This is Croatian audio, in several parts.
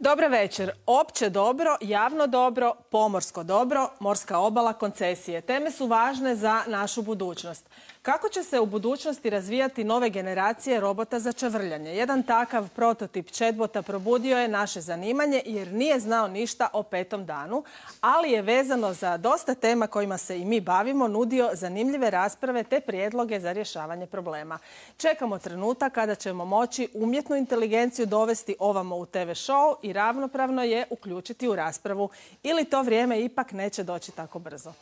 Dobar večer. Opće dobro, javno dobro, pomorsko dobro, morska obala, koncesije. Teme su važne za našu budućnost. Kako će se u budućnosti razvijati nove generacije robota za čavrljanje? Jedan takav prototip chatbota probudio je naše zanimanje jer nije znao ništa o 5. danu, ali je vezano za dosta tema kojima se i mi bavimo, nudio zanimljive rasprave te prijedloge za rješavanje problema. Čekamo trenutak kada ćemo moći umjetnu inteligenciju dovesti ovamo u TV show i ravnopravno je uključiti u raspravu. Ili to vrijeme ipak neće doći tako brzo.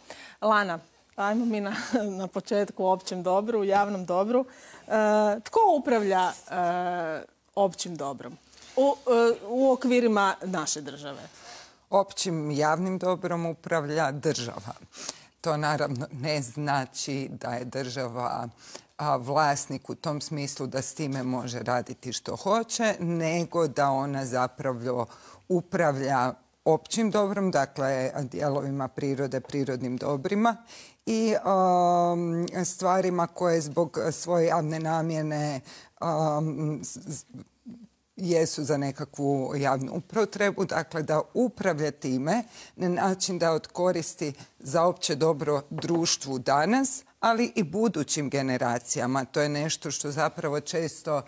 Lana, ajmo mi na početku o općem dobru, u javnom dobru. Tko upravlja općim dobrom u okvirima naše države? Općim javnim dobrom upravlja država. To naravno ne znači da je država vlasnik u tom smislu da s time može raditi što hoće, nego da ona zapravo upravlja općim dobrom, dakle dijelovima prirode, prirodnim dobrima i stvarima koje zbog svoje javne namjene jesu za nekakvu javnu upotrebu, dakle da upravlja time na način da od koristi za opće dobro društvu danas, ali i budućim generacijama. To je nešto što zapravo često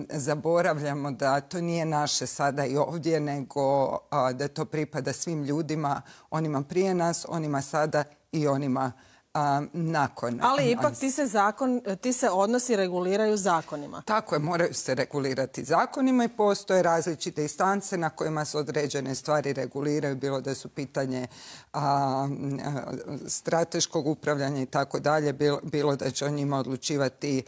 zaboravljamo, da to nije naše sada i ovdje, nego da to pripada svim ljudima, onima prije nas, onima sada i onima nakon. Ali ipak ti se odnosi reguliraju zakonima. Tako je, moraju se regulirati zakonima i postoje različite instance na kojima se određene stvari reguliraju, bilo da su pitanje strateškog upravljanja i tako dalje, bilo da će o njima odlučivati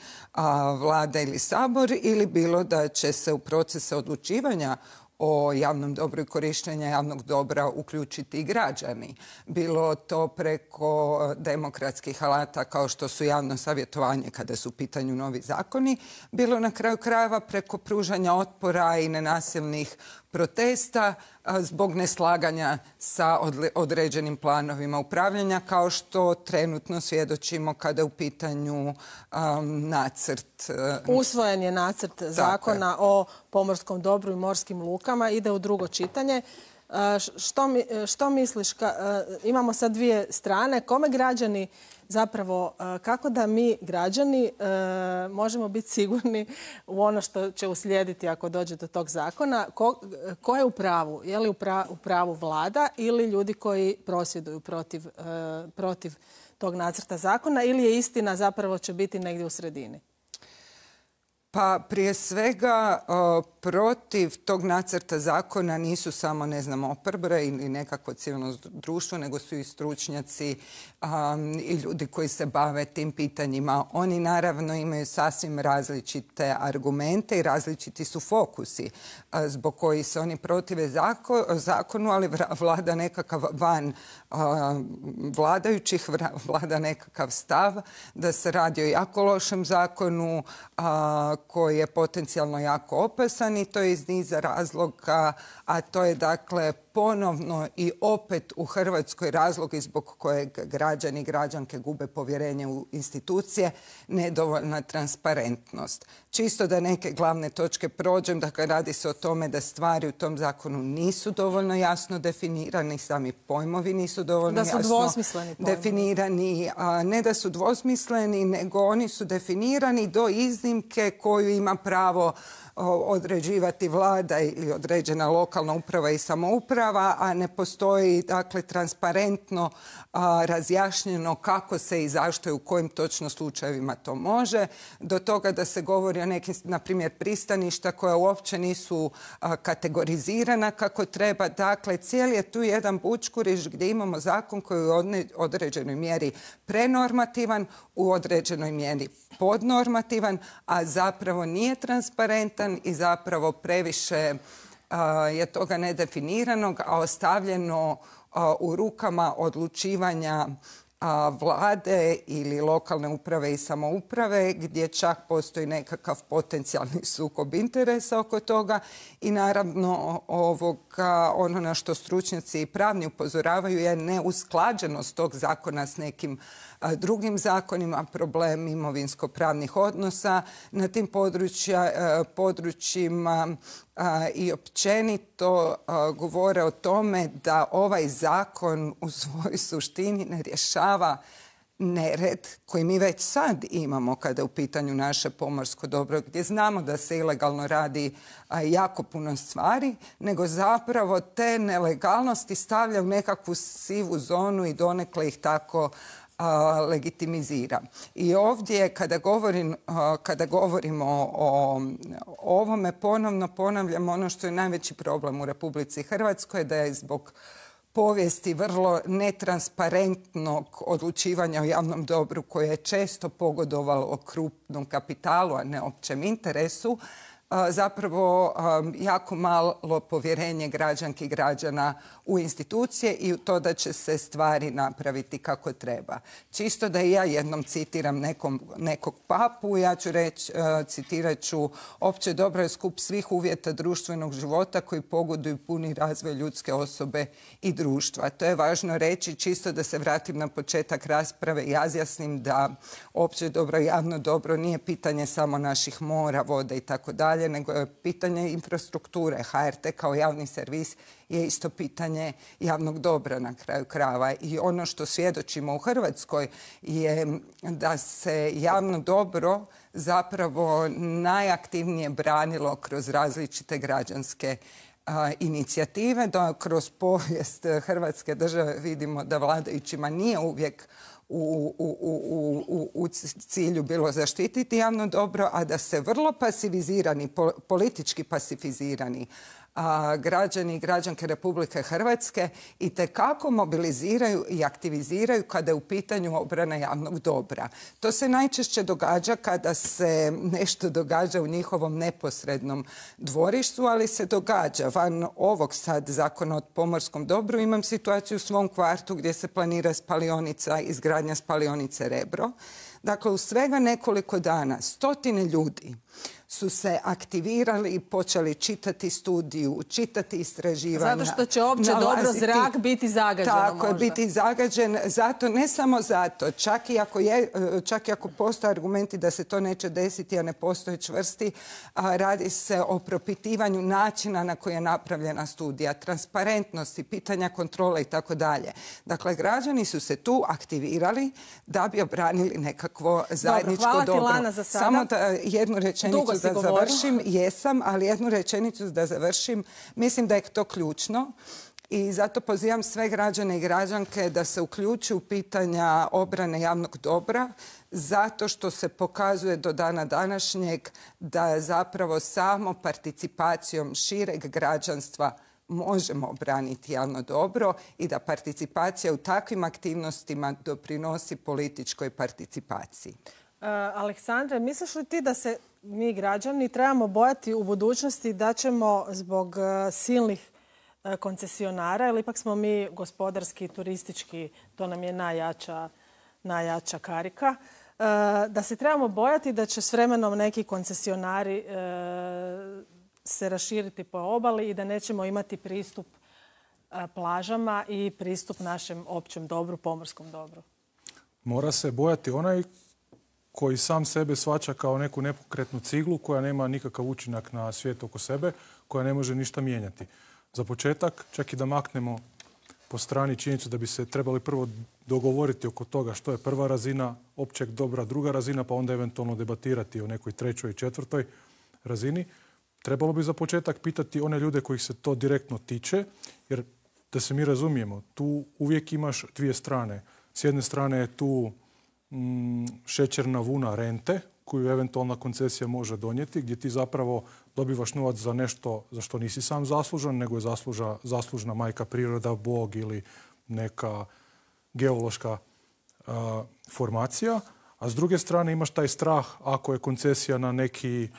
vlada ili sabor, ili bilo da će se u procese odlučivanja o javnom dobru i korištenja javnog dobra uključiti i građani. Bilo to preko demokratskih alata kao što su javno savjetovanje kada su u pitanju novi zakoni, bilo na kraju krajeva preko pružanja otpora i nenasilnih protesta zbog neslaganja sa određenim planovima upravljanja, kao što trenutno svjedočimo kada je u pitanju nacrt. Usvojen je nacrt zakona o pomorskom dobru i morskim lukama, ide u drugo čitanje. Što misliš, imamo sad dvije strane, kome građani zapravo, kako da mi građani možemo biti sigurni u ono što će uslijediti ako dođe do tog zakona? Ko je u pravu? Je li u pravu vlada ili ljudi koji prosvjeduju protiv tog nacrta zakona, ili je istina zapravo će biti negdje u sredini? Pa prije svega protiv tog nacrta zakona nisu samo, oporba ili nekakvo civilno društvo, nego su i stručnjaci i ljudi koji se bave tim pitanjima. Oni naravno imaju sasvim različite argumente i različiti su fokusi zbog kojih se oni protive zakonu, ali vlada nekakav van vladajućih, vlada nekakav stav da se radi o jako lošem zakonu koji je potencijalno jako opasan, i to je iz niza razloga, a to je dakle ponovno i opet u Hrvatskoj razlog zbog kojeg građani i građanke gube povjerenje u institucije, nedovoljna transparentnost. Čisto da neke glavne točke prođem, dakle radi se o tome da stvari u tom zakonu nisu dovoljno jasno definirani, sami pojmovi nisu dovoljno jasno definirani. Ne da su dvosmisleni, nego oni su definirani do iznimke koju ima pravo određivati vlada ili određena lokalna uprava i samouprava, a ne postoji dakle transparentno razjašnjeno kako se i zašto i u kojim točno slučajevima to može, do toga da se govori o nekim, na primjer, pristaništa koja uopće nisu kategorizirana kako treba. Dakle, cijeli je tu jedan bućkuriš gdje imamo zakon koji je u određenoj mjeri prenormativan, u određenoj mjeri podnormativan, a zapravo nije transparentan i zapravo previše je toga nedefiniranog, a ostavljeno u rukama odlučivanja vlade ili lokalne uprave i samouprave, gdje čak postoji nekakav potencijalni sukob interesa oko toga. I naravno ono na što stručnjaci i pravni upozoravaju je neusklađenost tog zakona s nekim drugim zakonima, problem imovinsko-pravnih odnosa na tim područjima, i općenito govore o tome da ovaj zakon u svojoj suštini ne rješava nered koji mi već sad imamo kada je u pitanju naše pomorsko dobro, gdje znamo da se ilegalno radi jako puno stvari, nego zapravo te nelegalnosti stavlja u nekakvu sivu zonu i donekle ih tako legitimizira. I ovdje kada govorimo o ovome, ponovno ponavljam ono što je najveći problem u Republici Hrvatskoj, da je zbog povijesti vrlo netransparentnog odlučivanja o javnom dobru koje je često pogodovalo krupnom kapitalu, a ne općem interesu, zapravo jako malo povjerenje građanki i građana u institucije i u to da će se stvari napraviti kako treba. Čisto da i ja jednom citiram nekog papu, ja ću reći, citirat ću: opće dobro je skup svih uvjeta društvenog života koji pogoduju puni razvoj ljudske osobe i društva. To je važno reći, čisto da se vratim na početak rasprave i razjasnim da opće dobro i javno dobro nije pitanje samo naših mora, vode i tako dalje, nego je pitanje infrastrukture. HRT kao javni servis je isto pitanje javnog dobra na kraju krajeva. I ono što svjedočimo u Hrvatskoj je da se javno dobro zapravo najaktivnije branilo kroz različite građanske inicijative, da kroz povijest Hrvatske države vidimo da vladajućima nije uvijek u cilju bilo zaštititi javno dobro, a da se vrlo pasivizirani, politički pasifizirani građani i građanke Republike Hrvatske itekako mobiliziraju i aktiviziraju kada je u pitanju obrana javnog dobra. To se najčešće događa kada se nešto događa u njihovom neposrednom dvorištu, ali se događa. Van ovog sad zakona o pomorskom dobru imam situaciju u svom kvartu gdje se planira spalionica, izgradnja spalionice Rebro. Dakle, u svega nekoliko dana stotine ljudi su se aktivirali i počeli čitati studiju, čitati istraživanja. Zato što će opće dobro zrak biti zagađen. Tako je, biti zagađen. Zato, ne samo zato, čak i ako postoje argumenti da se to neće desiti, a ne postoje čvrsti, radi se o propitivanju načina na koji je napravljena studija, transparentnosti, pitanja kontrole i tako dalje. Dakle, građani su se tu aktivirali da bi obranili nekakvo zajedničko dobro. Hvala ti, Lana, za sada. Samo da jednu rečenicu da završim. Jesam, ali jednu rečenicu da završim. Mislim da je to ključno i zato pozivam sve građane i građanke da se uključuju u pitanja obrane javnog dobra, zato što se pokazuje do dana današnjeg da zapravo samo participacijom šireg građanstva možemo obraniti javno dobro i da participacija u takvim aktivnostima doprinosi političkoj participaciji. Aleksandre, misliš li ti da se mi građani trebamo bojati u budućnosti da ćemo zbog silnih koncesionara, ili ipak smo mi gospodarski, turistički, to nam je najjača karika, da se trebamo bojati da će s vremenom neki koncesionari se raširiti po obali i da nećemo imati pristup plažama i pristup našem općem dobru, pomorskom dobru? Mora se bojati onaj koji sam sebe shvaća kao neku nepokretnu ciglu koja nema nikakav učinak na svijet oko sebe, koja ne može ništa mijenjati. Za početak, čak i da maknemo po strani činjenicu da bi se trebali prvo dogovoriti oko toga što je prva razina općeg dobra, druga razina, pa onda eventualno debatirati o nekoj trećoj i četvrtoj razini. Trebalo bi za početak pitati one ljude kojih se to direktno tiče, jer da se mi razumijemo, tu uvijek imaš dvije strane. S jedne strane je tu šećerna vuna rente koju eventualna koncesija može donijeti, gdje ti zapravo dobivaš novac za nešto za što nisi sam zaslužan, nego je zaslužna majka priroda, Bog ili neka geološka formacija. A s druge strane imaš taj strah ako je koncesija na neki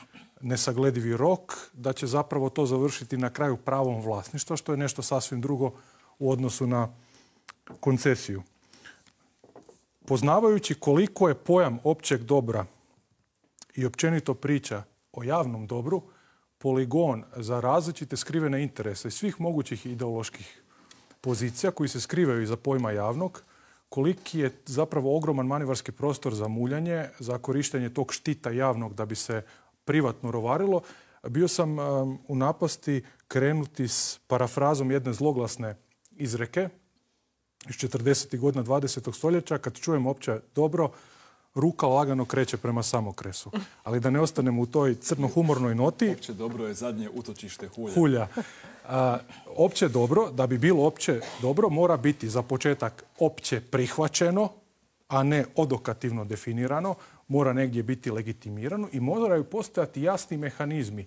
nesagledivi rok, da će zapravo to završiti na kraju pravom vlasništva, što je nešto sasvim drugo u odnosu na koncesiju. Poznavajući koliko je pojam općeg dobra i općenito priča o javnom dobru poligon za različite skrivene interese iz svih mogućih ideoloških pozicija koji se skrivaju iza pojma javnog, koliki je zapravo ogroman manevarski prostor za muljanje, za korištenje tog štita javnog da bi se privatno rovarilo, bio sam u napasti krenuti s parafrazom jedne zloglasne izreke iz 40. godina 20. stoljeća. Kad čujem opće dobro, ruka lagano kreće prema samokresu. Ali da ne ostanemo u toj crno-humornoj noti... Opće dobro je zadnje utočište hulja. Opće dobro, da bi bilo opće dobro, mora biti za početak opće prihvaćeno, a ne odokativno definirano, mora negdje biti legitimirano i moraju postojati jasni mehanizmi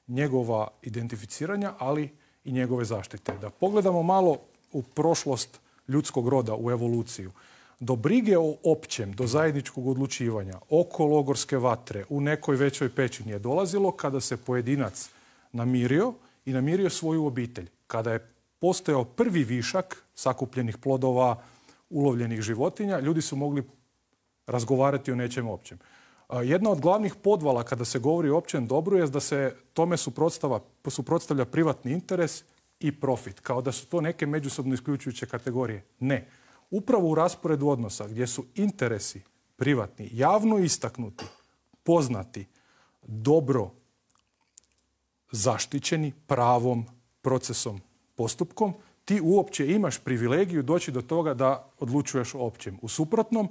njegova identificiranja, ali i njegove zaštite. Da pogledamo malo u prošlost ljudskog roda, u evoluciju. Do brige o općem, do zajedničkog odlučivanja, oko logorske vatre, u nekoj većoj pećini je dolazilo kada se pojedinac namirio i namirio svoju obitelj. Kada je postojao prvi višak sakupljenih plodova, ulovljenih životinja, ljudi su mogli razgovarati o nečem općem. Jedna od glavnih podvala kada se govori o općem dobru je da se tome suprotstavlja privatni interes i profit, kao da su to neke međusobno isključujuće kategorije. Ne. Upravo u rasporedu odnosa gdje su interesi privatni, javno istaknuti, poznati, dobro zaštićeni pravom, procesom, postupkom, ti uopće imaš privilegiju doći do toga da odlučuješ o općem. U suprotnom,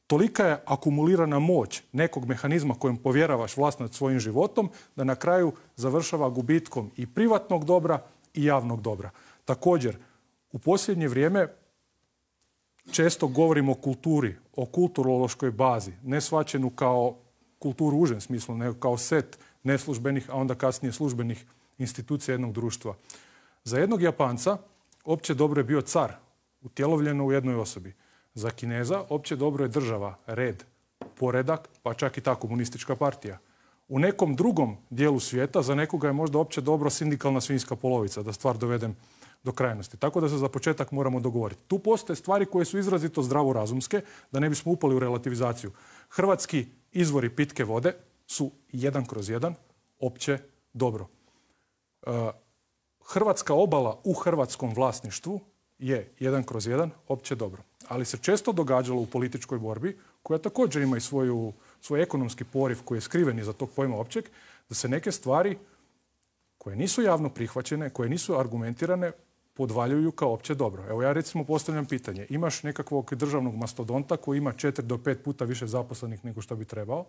tolika je akumulirana moć nekog mehanizma kojem povjeravaš vlast nad svojim životom, da na kraju završava gubitkom i privatnog dobra i javnog dobra. Također, u posljednje vrijeme često govorimo o kulturi, o kulturološkoj bazi, ne shvaćenu kao kulturu u užem smislu, nego kao set neslužbenih, a onda kasnije službenih institucija jednog društva. Za jednog Japanca opće dobro je bio car, utjelovljeno u jednoj osobi. Za Kineza opće dobro je država, red, poredak, pa čak i ta komunistička partija. U nekom drugom dijelu svijeta za nekoga je možda opće dobro sindikalna svinjska polovica, da stvar dovedem do krajnosti. Tako da se za početak moramo dogovoriti. Tu postoje stvari koje su izrazito zdravorazumske, da ne bismo upali u relativizaciju. Hrvatski izvori pitke vode su 1/1 opće dobro. Hrvatska obala u hrvatskom vlasništvu je 1/1 opće dobro. Ali se često događalo u političkoj borbi, koja također ima i svoj ekonomski poriv koji je skriven iza tog pojma općeg, da se neke stvari koje nisu javno prihvaćene, koje nisu argumentirane, podvaljuju kao opće dobro. Evo ja recimo postavljam pitanje. Imaš nekakvog državnog mastodonta koji ima 4 do 5 puta više zaposlenih nego što bi trebao.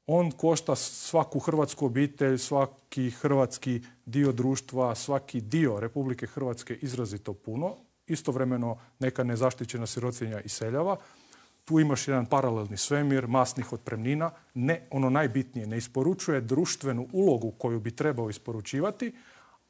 On košta svaku hrvatsku obitelj, svaki hrvatski dio društva, svaki dio Republike Hrvatske izrazito puno. Istovremeno neka nezaštićena sirotinja iseljava. Tu imaš jedan paralelni svemir, masnih otpremnina. Ne, ono najbitnije, ne isporučuje društvenu ulogu koju bi trebao isporučivati,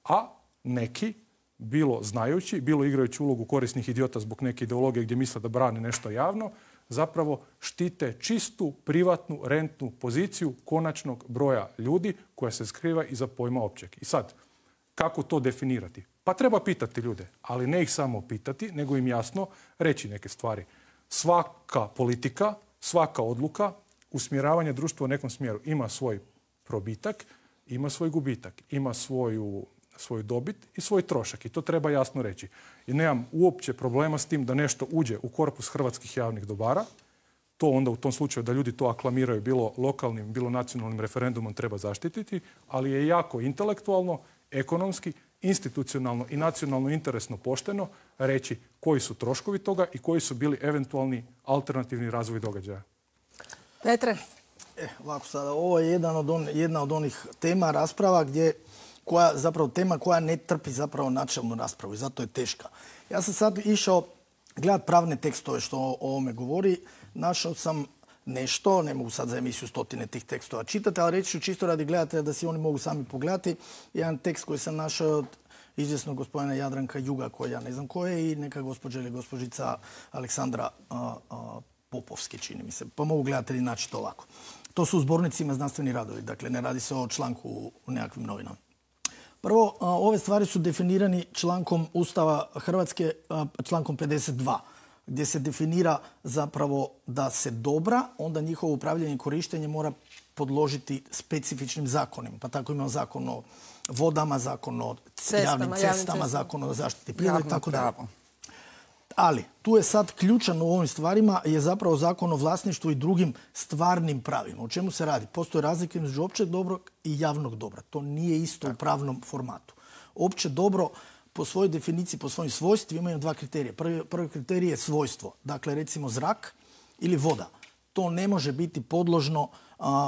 a neki, bilo znajući, bilo igrajući ulogu korisnih idiota zbog neke ideologije gdje misle da brane nešto javno, zapravo štite čistu, privatnu, rentnu poziciju konačnog broja ljudi koja se skriva iza pojma općeg. I sad, kako to definirati? Pa treba pitati ljude, ali ne ih samo pitati, nego im jasno reći neke stvari. Svaka politika, svaka odluka, usmjeravanje društva u nekom smjeru ima svoj probitak, ima svoj gubitak, ima svoju dobit i svoj trošak. I to treba jasno reći. I nemam uopće problema s tim da nešto uđe u korpus hrvatskih javnih dobara. To onda u tom slučaju da ljudi to aklamiraju bilo lokalnim, bilo nacionalnim referendumom treba zaštititi, ali je jako intelektualno, ekonomski, institucionalno i nacionalno interesno pošteno reći koji su troškovi toga i koji su bili eventualni alternativni razvoj događaja. Petre? Ovako sada, ovo je jedna od onih tema rasprava tema koja ne trpi zapravo načelnu raspravu i zato je teška. Ja sam sad išao gledat pravne tekstove što o ovome govori. Našao sam nešto, ne mogu sad za emisiju stotine tih tekstova čitati, ali reći ću čisto radi gledatelja da si oni mogu sami pogledati. Jedan tekst koji sam našao od izvjesnog gospodina Jadranka Juga, koji ja ne znam ko je, i neka gospođa ili gospođica Aleksandra Popovski, čini mi se. Pa mogu gledatelji naći to ovako. To su u zbornicima znanstveni radovi, dakle ne radi se o članku u nekakvim novinama. Prvo, ove stvari su definirani člankom Ustava Hrvatske, člankom 52, gdje se definira zapravo da se dobra, onda njihovo upravljanje i korištenje mora podložiti specifičnim zakonima. Pa tako imamo zakon o vodama, zakon o javnim cestama, zakon o zaštiti prirode i tako dalje. Ali, tu je sad ključan u ovim stvarima je zapravo zakon o vlasništvu i drugim stvarnim pravima. O čemu se radi? Postoje razlike između općeg dobrog i javnog dobra. To nije isto u pravnom formatu. Opće dobro po svojoj definiciji, po svojim svojstvima imaju dva kriterija. Prvi kriterij je svojstvo. Dakle, recimo zrak ili voda. To ne može biti podložno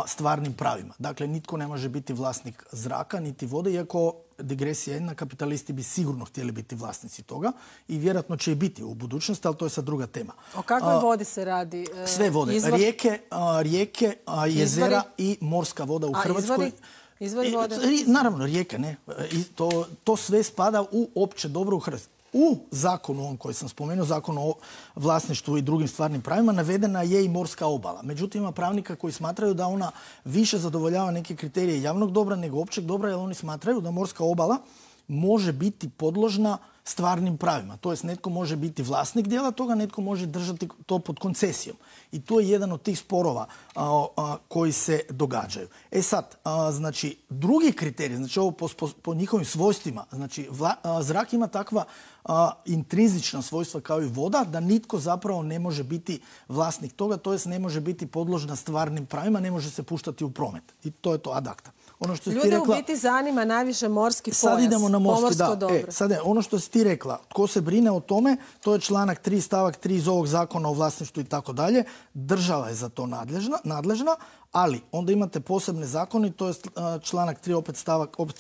stvarnim pravima. Dakle, nitko ne može biti vlasnik zraka niti vode, iako digresija jedna, kapitalisti bi sigurno htjeli biti vlasnici toga i vjerojatno će i biti u budućnosti, ali to je sad druga tema. O kakvoj vodi se radi? Sve vode. Rijeke, jezera i morska voda u Hrvatskoj. Izvori vode? Naravno, rijeke, ne. To sve spada u opće dobro u Hrvatskoj. U zakonu ovom koji sam spomenuo, zakonu o vlasništvu i drugim stvarnim pravima, navedena je i morska obala. Međutim, ima pravnika koji smatraju da ona više zadovoljava neke kriterije javnog dobra nego općeg dobra, jer oni smatraju da morska obala može biti podložna stvarnim pravima. To jest, netko može biti vlasnik dijela toga, netko može držati to pod koncesijom. I to je jedan od tih sporova koji se događaju. E sad, znači, drugi kriterij, znači ovo po njihovim svojstvima, znači zrak ima takva intrinzična svojstva kao i voda, da nitko zapravo ne može biti vlasnik toga, to jest ne može biti podložna stvarnim pravima, ne može se puštati u promet. I to je to ad acta. Ljude u biti zanima najviše morski pojas. Sad idemo na morski, da. Dobro. Ono što si ti rekla, tko se brine o tome, to je članak 3 stavak 3 iz ovog zakona o vlasništvu i tako dalje. Država je za to nadležna, ali onda imate posebne zakone, to je članak 3, opet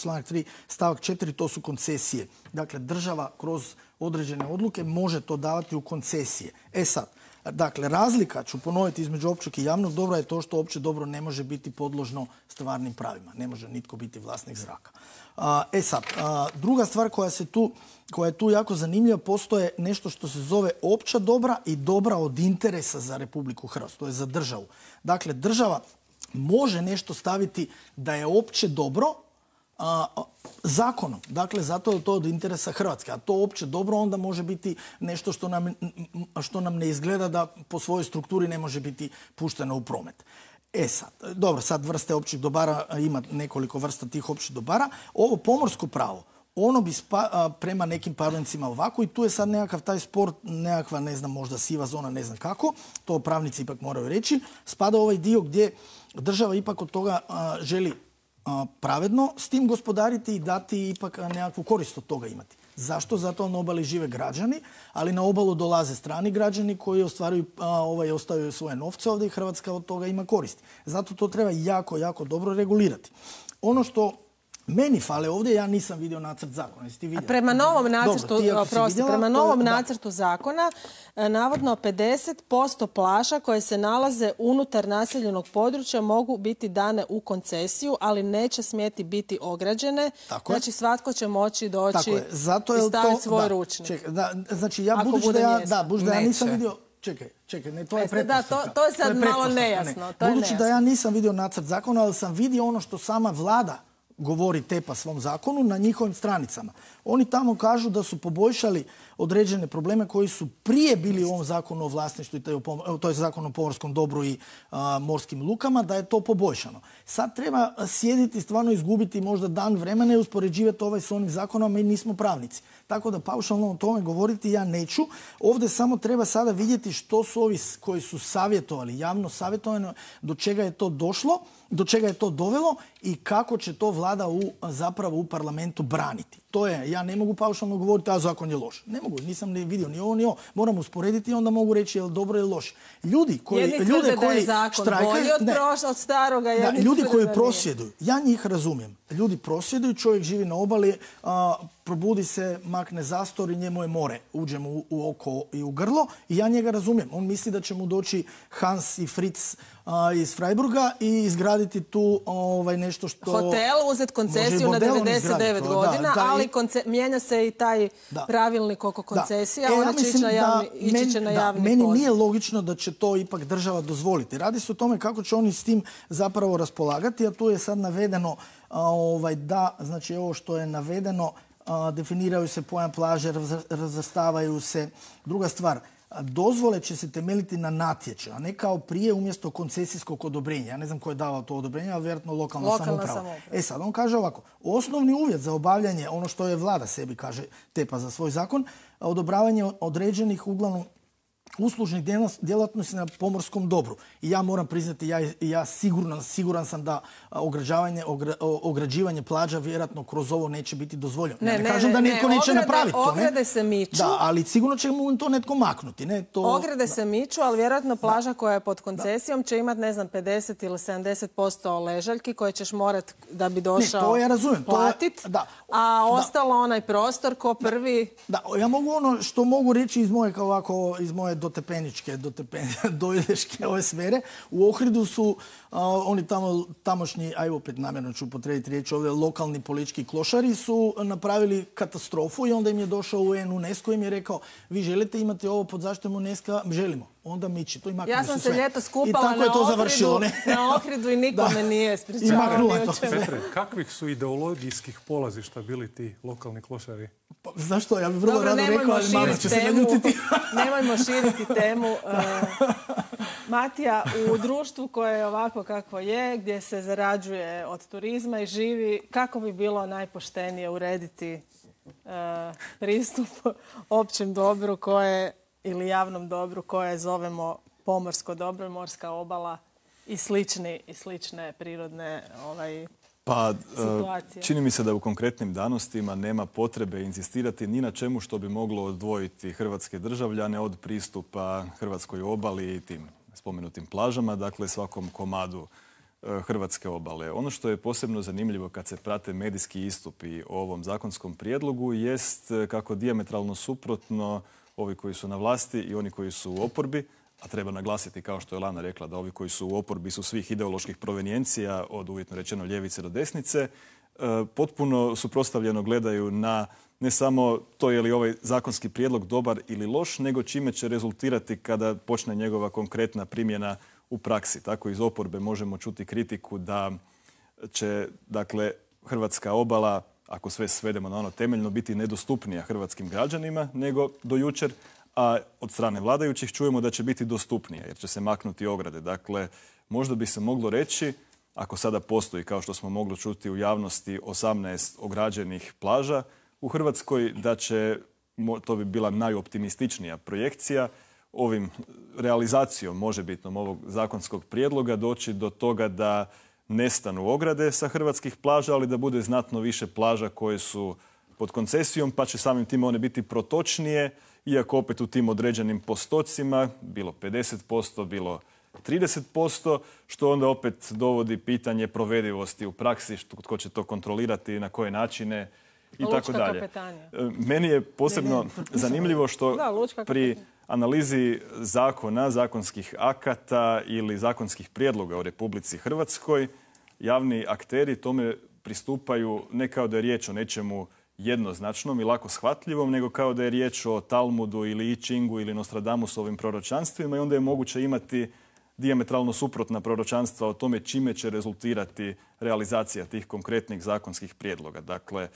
članak 3 stavak 4, to su koncesije. Dakle, država kroz određene odluke može to davati u koncesije. E sad, dakle, razlika, ću ponoviti, između općeg i javnog dobra je to što opće dobro ne može biti podložno stvarnim pravima. Ne može nitko biti vlasnik zraka. Druga stvar koja je tu jako zanimljiva, postoje nešto što se zove opća dobra i dobra od interesa za Republiku Hrvatsku. To je za državu. Dakle, država može nešto staviti da je opće dobro zakonom. Dakle, zato je to od interesa Hrvatske. A to opće dobro onda može biti nešto što nam ne izgleda da po svojoj strukturi ne može biti pušteno u promet. Sad vrste općih dobara, ima nekoliko vrsta tih općih dobara. Ovo pomorsko pravo, ono bi prema nekim parnicima ovako i tu je sad nekakav taj spor, nekakva, ne znam, možda siva zona, ne znam kako, to pravnici ipak moraju reći, spada ovaj dio gdje država ipak od toga želi pravedno s tim gospodariti i dati ipak nekakvu korist od toga imati. Zašto? Zato na obali žive građani, ali na obalu dolaze strani građani koji ostavljaju svoje novce ovdje i Hrvatska od toga ima koristi. Zato to treba jako, jako dobro regulirati. Ono što meni fale ovdje, ja nisam vidio nacrt zakona. Jesi ti vidio? Prema novom nacrtu zakona, navodno 50% plaža koje se nalaze unutar naseljenog područja mogu biti dane u koncesiju, ali neće smjeti biti ograđene. Znači, svatko će moći doći i staviti svoj ručnik. Znači, ja nisam vidio... Čekaj, to je pretpostavka. To je sad malo nejasno. Budući da ja nisam vidio nacrt zakona, ali sam vidio ono što sama vlada govori tepa svom zakonu na njihovim stranicama. Oni tamo kažu da su poboljšali određene probleme koji su prije bili u ovom zakonu o vlasništvu, to je zakon o pomorskom dobru i morskim lukama, da je to poboljšano. Sad treba sjediti, stvarno izgubiti možda dan vremena i uspoređivati s onim zakonom, mi nismo pravnici. Tako da paušalno o tome govoriti ja neću. Ovdje samo treba sada vidjeti što su ovi koji su savjetovali, javno savjetovano, do čega je to došlo, do čega je to dovelo i kako će to vlada zapravo u parlamentu braniti. To je, ja ne mogu paušalno govoriti, a zakon je loš. Ne mogu, nisam ne vidio ni ovo ni ovo. Moram usporediti i onda mogu reći je li dobro ili loš. Ljudi koji prosvjeduju, ja njih razumijem. Ljudi prosvjeduju, čovjek živi na obali, probudi se, makne zastor i njemu je more. Uđe mu u oko i u grlo i ja njega razumijem. On misli da će mu doći Hans i Fritz iz Freiburga i izgraditi tu nešto što... Hotel, uzeti koncesiju na 99 godina, ali mijenja se i taj pravilnik oko koncesija, ona će ići na javni poziv. Meni nije logično da će to ipak država dozvoliti. Radi se o tome kako će oni s tim zapravo raspolagati, a tu je sad navedeno znači ovo što je navedeno, definiraju se pojam plaže, razvrstavaju se. Druga stvar, dozvole će se temeljiti na natječaju, a ne kao prije umjesto koncesijskog odobrenja. Ja ne znam ko je davao to odobrenje, ali vjerojatno lokalna samouprava. Sad, on kaže ovako, osnovni uvjet za obavljanje, ono što je vlada sebi kaže, tepa za svoj zakon, odobravanje određenih uglavnom uslužnih djelatnosti na pomorskom dobru. I ja moram priznati, ja siguran sam da ograđivanje plaža vjerojatno kroz ovo neće biti dozvoljeno. Ja ne kažem da netko neće napraviti to. Ograde se miču. Da, ali sigurno će mu to netko maknuti. Ograde se miču, ali vjerojatno plaža koja je pod koncesijom će imati, ne znam, 50 ili 70% ležaljki koje ćeš morati da bi došao platiti. A ostalo onaj prostor ko prvi... Da, ja mogu ono što mogu reći iz moje dojdeške ove sfere. U Ohridu su oni tamošnji, aj opet namjerno ću upotrijebiti riječ ovdje, lokalni politički klošari su napravili katastrofu i onda im je došao UNESCO i im je rekao, vi želite imati ovo pod zaštitom UNESCO? Želimo. Onda miči. To i maknuli su sve. Ja sam se ljeto skupala na Ohridu i nikome nije spričavao. Petre, kakvih su ideologijskih polazišta bili ti lokalni klošari? Znaš što, ja bih vrlo rado rekao, ali mama će se naljutiti. Nemojmo širiti temu. Matija, u društvu koje je ovako kako je, gdje se zarađuje od turizma i živi, kako bi bilo najpoštenije urediti pristup općem dobru ili javnom dobru koje zovemo pomorsko dobro, morska obala i slične prirodne situacije? Čini mi se da u konkretnim danostima nema potrebe inzistirati ni na čemu što bi moglo odvojiti hrvatske državljane od pristupa hrvatskoj obali i tim spomenutim plažama, dakle svakom komadu hrvatske obale. Ono što je posebno zanimljivo kad se prate medijski istupi o ovom zakonskom prijedlogu jest kako dijametralno suprotno ovi koji su na vlasti i oni koji su u oporbi, a treba naglasiti, kao što je Lana rekla, da ovi koji su u oporbi su svih ideoloških provenijencija, od uvjetno rečeno ljevice do desnice, potpuno suprotstavljeno gledaju na ne samo to je li ovaj zakonski prijedlog dobar ili loš, nego čime će rezultirati kada počne njegova konkretna primjena u praksi. Tako iz oporbe možemo čuti kritiku da će, dakle, hrvatska obala, ako sve svedemo na ono temeljno, biti nedostupnija hrvatskim građanima nego do jučer, a od strane vladajućih čujemo da će biti dostupnija jer će se maknuti ograde. Dakle, možda bi se moglo reći, ako sada postoji, kao što smo mogli čuti u javnosti, 18 ograđenih plaža u Hrvatskoj, da će, to bi bila najoptimističnija projekcija, ovim realizacijom možebitnom ovog zakonskog prijedloga doći do toga da nestanu ograde sa hrvatskih plaža, ali da bude znatno više plaža koje su pod koncesijom, pa će samim time one biti protočnije, iako opet u tim određenim postocima, bilo 50%, bilo 30%, što onda opet dovodi pitanje provedivosti u praksi, tko će to kontrolirati, na koje načine i tako dalje. Meni je posebno zanimljivo što pri analizi zakona, zakonskih akata ili zakonskih prijedloga u Republici Hrvatskoj javni akteri tome pristupaju ne kao da je riječ o nečemu jednoznačnom i lako shvatljivom, nego kao da je riječ o Talmudu ili I Chingu ili Nostradamusovim proročanstvima i onda je moguće imati dijametralno suprotna proročanstva o tome čime će rezultirati realizacija tih konkretnih zakonskih prijedloga. Dakle,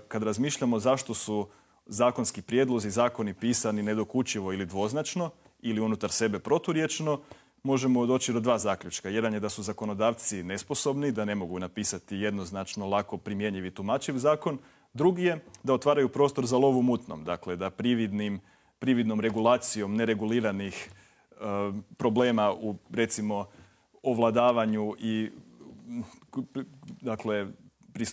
kad razmišljamo zašto su zakonski prijedlozi, zakoni pisani nedokučivo ili dvoznačno ili unutar sebe proturječno, možemo doći do dva zaključka. Jedan je da su zakonodavci nesposobni, da ne mogu napisati jednoznačno, lako primjenjiv i tumačiv zakon. Drugi je da otvaraju prostor za lov u mutnom, dakle da prividnom regulacijom nereguliranih problema u, recimo, ovladavanju i dakle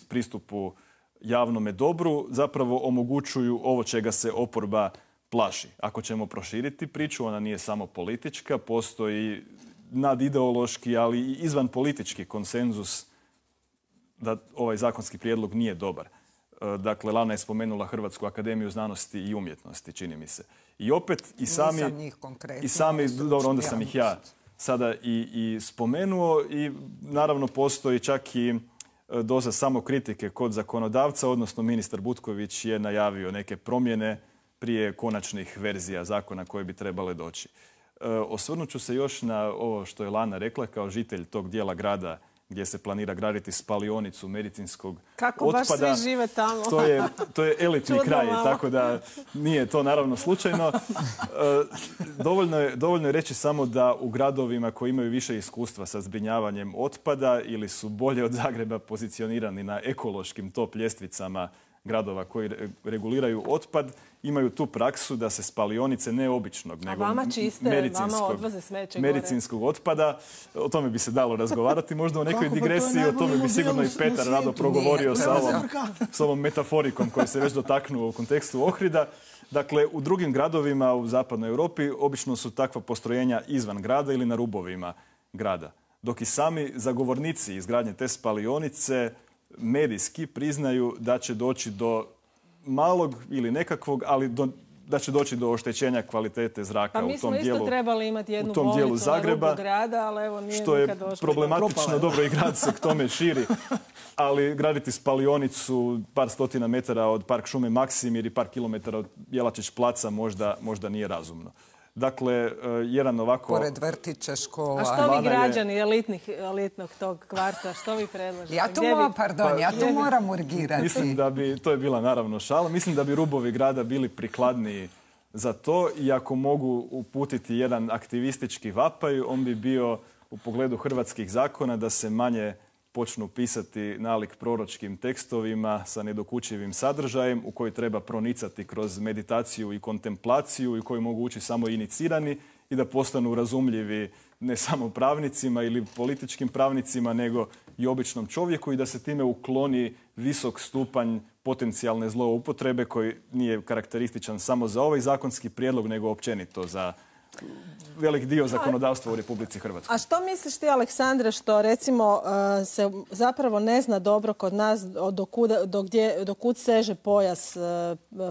pristupu javnome dobru zapravo omogućuju ovo čega se oporba plaši. Ako ćemo proširiti priču, ona nije samo politička, postoji nadideološki, ali i izvan politički konsenzus da ovaj zakonski prijedlog nije dobar. Dakle, Lana je spomenula Hrvatsku akademiju znanosti i umjetnosti, čini mi se. I opet i sami dobro, onda sam ih ja sada i spomenuo i naravno postoji čak i doza samokritike kod zakonodavca, odnosno ministar Butković je najavio neke promjene prije konačnih verzija zakona koje bi trebale doći. Osvrnut ću se još na ovo što je Lana rekla kao žitelj tog dijela grada gdje se planira graditi spalionicu medicinskog Kako otpada. baš svi žive tamo? To je elitni kraj, tako da nije to naravno slučajno. Dovoljno je reći samo da u gradovima koji imaju više iskustva sa zbrinjavanjem otpada ili su bolje od Zagreba pozicionirani na ekološkim top ljestvicama gradova koji reguliraju otpad, imaju tu praksu da se spalionice ne običnog, nego medicinskog otpada. O tome bi se dalo razgovarati. Možda u nekoj digresiji o tome bi sigurno i Petar rado progovorio s ovom metaforikom koju se već dotaknuo u kontekstu Ohrida. Dakle, u drugim gradovima u zapadnoj Europi obično su takva postrojenja izvan grada ili na rubovima grada. Dok i sami zagovornici izgradnje te spalionice medijski priznaju da će doći do malog ili nekakvog, ali da će doći do oštećenja kvalitete zraka u tom dijelu. Pa mi smo isto trebali imati jednu bolnicu na rubu grada, ali evo nije nikad došlo. Što je problematično, dobro i grad se k tome širi, ali graditi spalionicu par stotina metara od Park šume Maksimir i par kilometara od Jelačić placa možda nije razumno. Dakle, jedan ovako... Pored vrtića, škola... A što vi građani elitnog tog kvarta, što vi predlažete? Ja tu moram urgirati. Mislim da bi, to je bila naravno šala, mislim da bi rubovi grada bili prikladniji za to i ako mogu uputiti jedan aktivistički vapaj, on bi bio u pogledu hrvatskih zakona da se manje počnu pisati nalik proročkim tekstovima sa nedokučivim sadržajem u koji treba pronicati kroz meditaciju i kontemplaciju i koji mogu ući samo inicirani i da postanu razumljivi ne samo pravnicima ili političkim pravnicima, nego i običnom čovjeku i da se time ukloni visok stupanj potencijalne zloupotrebe koji nije karakterističan samo za ovaj zakonski prijedlog, nego općenito za velik dio zakonodavstva u Republici Hrvatskoj. A što misliš ti, Aleksandre, što recimo se zapravo ne zna dobro kod nas do kud seže pojas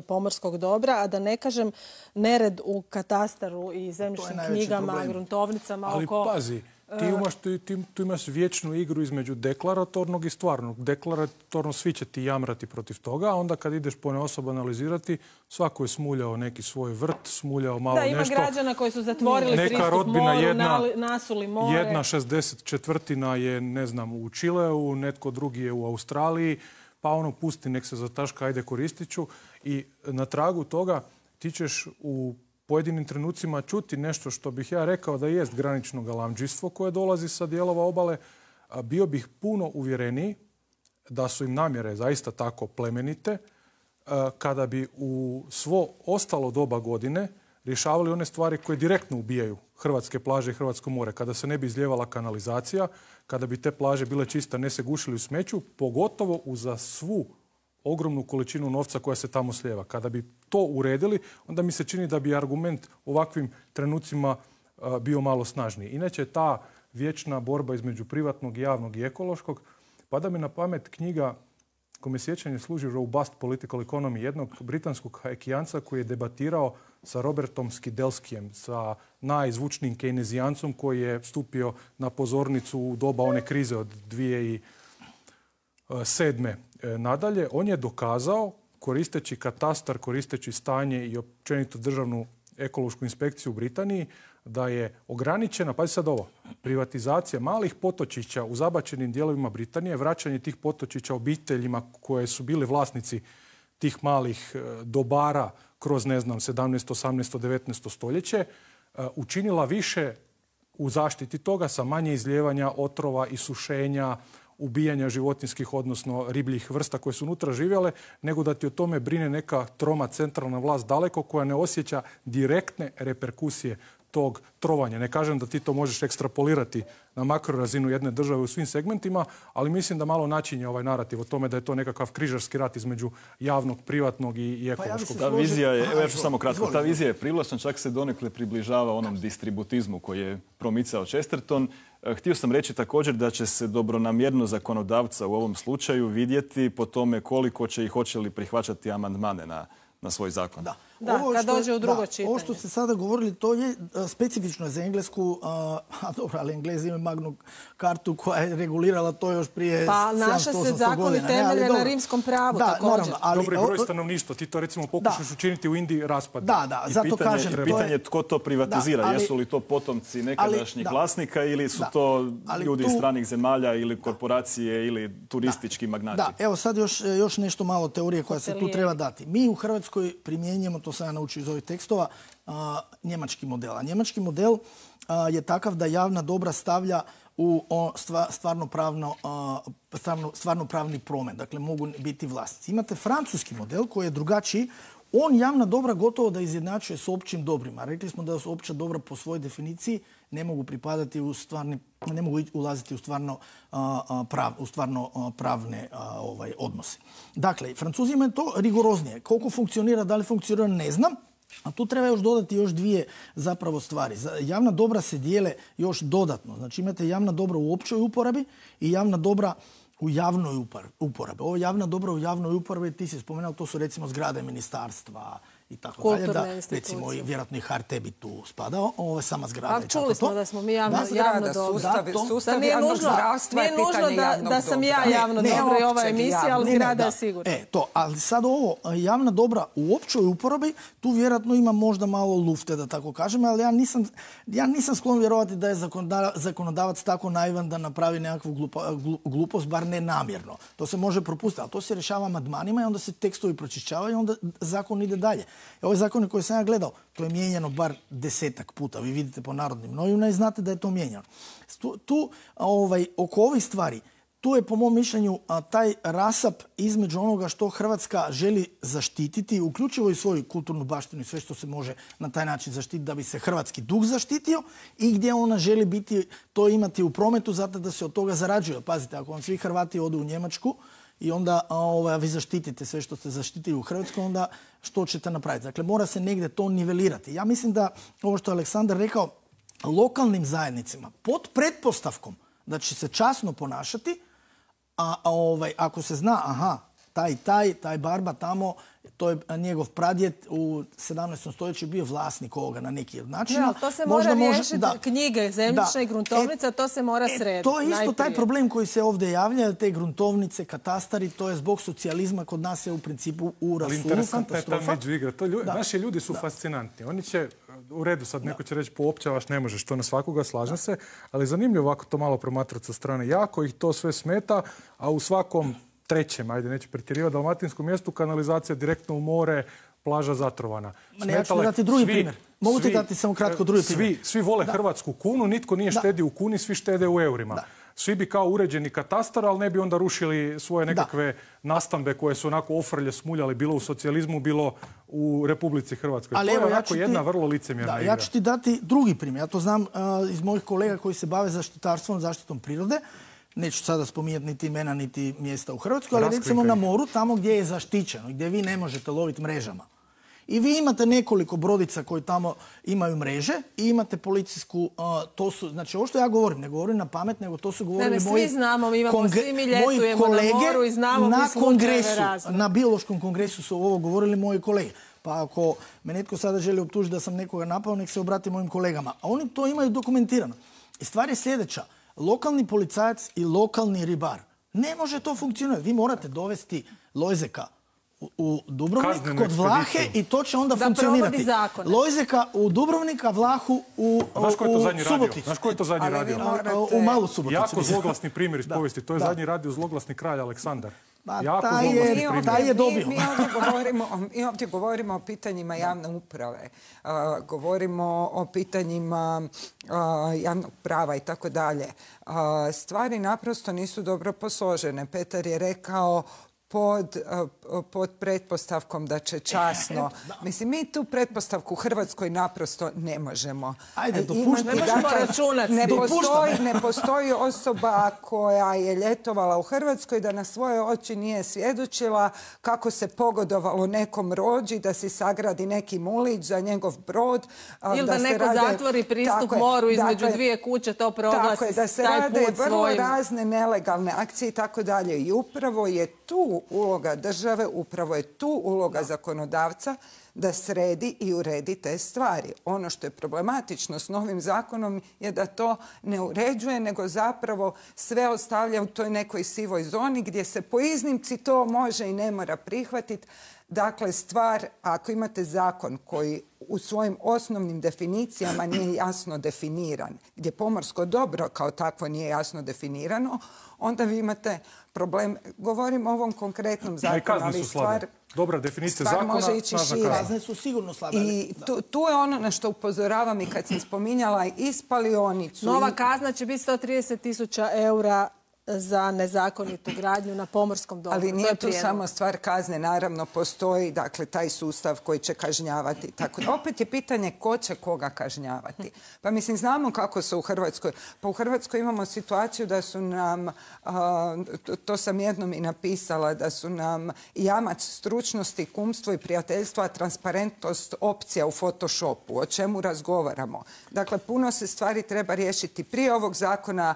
pomorskog dobra, a da ne kažem nered u katastaru i zemljišnim knjigama, gruntovnicama. Ali pazi, tu imaš vječnu igru između deklaratornog i stvarnog. Deklaratorno svi će ti jamrati protiv toga, a onda kad ideš ponaosob analizirati, svako je smuljao neki svoj vrt, smuljao malo nešto. Da, ima građana koji su zatvorili pristup moru, nasuli more. Jedna 64. je, ne znam, u Čileu, netko drugi je u Australiji, pa ono pusti, nek se zataška, ajde koristit ću. I na tragu toga ti ćeš u pojedinim trenucima čuti nešto što bih ja rekao da jest granično galamdžijstvo koje dolazi sa dijelova obale. Bio bih puno uvjereniji da su im namjere zaista tako plemenite kada bi u svo ostalo doba godine rješavali one stvari koje direktno ubijaju hrvatske plaže i hrvatsko more. Kada se ne bi izljevala kanalizacija, kada bi te plaže bile čiste, ne se gušili u smeću, pogotovo uza svu ogromnu količinu novca koja se tamo slijeva. Kada bi to uredili, onda mi se čini da bi argument u ovakvim trenucima bio malo snažniji. Inače, ta vječna borba između privatnog, javnog i ekološkog, pada mi na pamet knjiga kome sjećanje služi Robust Political Economy, jednog britanskog hajkijanca koji je debatirao sa Robertom Skidelskijem, sa najzvučnijim kejnezijancom koji je stupio na pozornicu u doba one krize od 2007. Nadalje, on je dokazao, koristeći katastar, koristeći stanje i općenito državnu ekološku inspekciju u Britaniji, da je ograničena, pazi sad ovo, privatizacija malih potočića u zabačenim dijelovima Britanije, vraćanje tih potočića obiteljima koje su bili vlasnici tih malih dobara kroz, ne znam, 17., 18., 19. stoljeće, učinila više u zaštiti toga sa manje izljevanja otrova i sušenja, ubijanja životinskih, odnosno ribljih vrsta koje su unutra živjele, nego da ti o tome brine neka troma centralna vlast daleko koja ne osjeća direktne reperkusije tog trovanja. Ne kažem da ti to možeš ekstrapolirati na makrorazinu jedne države u svim segmentima, ali mislim da malo načinje ovaj narativ o tome da je to nekakav križarski rat između javnog, privatnog i ekološkog. Ta vizija je, evo ja ću samo kratko, ta vizija je privlačna, čak se donekle približava onom distributizmu koji je promicao Chesterton. Htio sam reći također da će se dobronamjerno zakonodavca u ovom slučaju vidjeti po tome koliko će i hoće li prihvaćati amandmane na svoj zakon. Da. Da, kad dođe u drugo čitanje. Ovo što ste sada govorili, to je specifično za Englesku, a dobro, ali Englezi imaju Magnu kartu koja je regulirala to još prije 700-800 godina. Pa naša se zakoni temelje na rimskom pravu također. Dobro, broj stanovništva, ti to recimo pokušaš učiniti u Indiji raspad. Da, zato kažem. Pitanje tko to privatizira, jesu li to potomci nekadašnjih vlasnika ili su to ljudi iz stranih zemalja ili korporacije ili turistički magnati? Da, evo sad još nešto malo teorije koja se tu treba dati. Mi u Hrvatskoj primjenjujemo, to sam ja naučio iz ovih tekstova, njemački model. A njemački model je takav da javna dobra stavlja u stvarno pravni promet. Dakle, mogu biti vlasnici. Imate francuski model koji je drugačiji. On javna dobra gotovo da izjednačuje s općim dobrima. Rekli smo da su opća dobra po svojoj definiciji ne mogu pripadati ne mogu ulaziti u stvarno pravne odnose. Dakle, Francuzima je to rigoroznije. Koliko funkcionira, da li funkcionira, ne znam. A tu treba još dodati još dvije zapravo stvari. Javna dobra se dijele još dodatno. Znači imate javna dobra u općoj uporabi i javna dobra u javnoj uporabi. Ovo javna dobra u javnoj uporabi, ti si spomenuo, to su recimo zgrade ministarstva i tako dalje. Da, recimo, vjerojatno i HRT bi tu spadao, ovo je sama zgrada. A čuli smo da smo mi javno dobro. Sustav javnog zdravstva je pitanje javnog dobra. Da sam ja javno dobro i ova emisija, ali zgrada je sigurno. Ali sad ovo, javna dobra u općoj uporabi, tu vjerojatno ima možda malo lufte, da tako kažem, ali ja nisam sklon vjerovati da je zakonodavac tako naivan da napravi nekakvu glupost, bar ne namjerno. To se može propustiti, ali to se rješava amandmanima i onda se tekstovi pročišćavaju i onda zakon ide dalje. Ovaj zakon koji sam ja gledao, to je mijenjano bar 10-ak puta. Vi vidite po Narodnim novinama i znate da je to mijenjano. Oko ovih stvari, tu je po mom mišljenju taj rasap između onoga što Hrvatska želi zaštititi, uključivo i svoju kulturnu baštinu i sve što se može na taj način zaštititi da bi se hrvatski duh zaštitio i gdje ona želi to imati u prometu zato da se od toga zarađuje. Pazite, ako vam svi Hrvati odu u Njemačku i onda vi zaštitite sve što ste zaštitili u Hrvatskoj, onda što ćete napraviti? Dakle, mora se negdje to nivelirati. Ja mislim da ovo što je Aleksandar rekao, lokalnim zajednicama pod pretpostavkom da će se časno ponašati, ako se zna, taj barba tamo, to je njegov pradjed u 17. stoljeću bio vlasnik ovoga na neki način. To se mora riješiti, knjige, zemljišne i gruntovnica, to se mora srediti. To je isto taj problem koji se ovdje javlja, te gruntovnice, katastari, to je zbog socijalizma, kod nas je u principu u rasulu, katastrofa. Interesantna je ta međuigra. Naši ljudi su fascinantni. Oni će, u redu sad neko će reći poopćavaš, ne možeš to na svakoga, slažem se, ali zanimljivo ovako to malo promatrati sa strane. Jako ih to sve smeta, a u svakom trećem, ajde neću pretjerivati, dalmatinskom mjestu kanalizacija direktno u more, plaža zatrovana. Ja ću dati drugi primjer. Mogu ti dati samo kratko drugi primjer? Svi vole hrvatsku kunu, nitko nije štedio u kuni, svi štede u eurima. Svi bi kao uređeni katastar, ali ne bi onda rušili svoje nekakve nastambe koje su onako ofrlje smuljali, bilo u socijalizmu, bilo u Republici Hrvatskoj. To je onako jedna vrlo licemjerna igra. Ja ću ti dati drugi primjer. Ja to znam iz mojih kolega koji se bave zaštitarstvom, zaštitom prirode. Neću sada spominjati niti imena, niti mjesta u Hrvatskoj, ali recimo na moru, tamo gdje je zaštićeno, gdje vi ne možete loviti mrežama. I vi imate nekoliko brodica koji tamo imaju mreže i imate policijsku, to su, znači ovo što ja govorim, ne govorim na pamet, nego to su govorili moji kolege. Svi znamo, mi imamo, svi mi ljetujemo na moru i znamo mi slučajeve razne. Na biološkom kongresu su ovo govorili moji kolege. Pa ako me netko sada želi optužiti da sam nekoga napao, nek se obrati mojim kolegama. A oni to imaju dokumentirano. I stvar je sljedeća. Lokalni policajac i lokalni ribar. Ne može to funkcionirati. Vi morate dovesti Lojzeka u Dubrovnik kod Vlahe i to će onda funkcionirati. Lojzeka u Dubrovnika, Vlahu u Suboticu. Znaš ko je to zadnji radio? U Malu Suboticu. Jako zloglasni primjer iz povijesti. To je zadnji radio zloglasni kralj Aleksandar. Taj je dobio. Mi ovdje govorimo o pitanjima javne uprave. Govorimo o pitanjima javnog prava i tako dalje. Stvari naprosto nisu dobro posložene. Petar je rekao pod pretpostavkom da će časno. Mislim, mi tu pretpostavku u Hrvatskoj naprosto ne možemo. Ajde, dopušta. Ne možemo računati. Ne postoji osoba koja je letovala u Hrvatskoj da na svoje oči nije svjedočila kako se pogodovalo nekom rođi, da si sagradi neki mulić za njegov brod. Ili da neko zatvori pristup moru između dvije kuće, to proglasi taj put svojim. Da se rade vrlo razne nelegalne akcije i tako dalje. I upravo je tu tu uloga države, upravo je tu uloga zakonodavca da sredi i uredi te stvari. Ono što je problematično s novim zakonom je da to ne uređuje, nego zapravo sve ostavlja u toj nekoj sivoj zoni gdje se po iznimci to može i ne mora prihvatiti. Dakle, stvar, ako imate zakon koji u svojim osnovnim definicijama nije jasno definiran, gdje pomorsko dobro kao takvo nije jasno definirano, onda vi imate problem. Govorim o ovom konkretnom zakonu, ali stvar... Dobra definicija zakona, može ići šire. Kazne su sigurno slabe. I tu je ono na što upozoravam i kad sam spominjala i spalionicu. Nova kazna će biti 130.000 eura za nezakonitu gradnju na pomorskom dobru. Ali nije tu samo stvar kazne, naravno postoji dakle taj sustav koji će kažnjavati. Tako da opet je pitanje ko će koga kažnjavati. Pa mislim, znamo kako se u Hrvatskoj. Pa u Hrvatskoj imamo situaciju da su nam, to sam jednom i napisala, da su nam jamac stručnosti, kumstvo i prijateljstvo, a transparentnost opcija u Photoshopu. O čemu razgovaramo? Dakle, puno se stvari treba riješiti prije ovog zakona,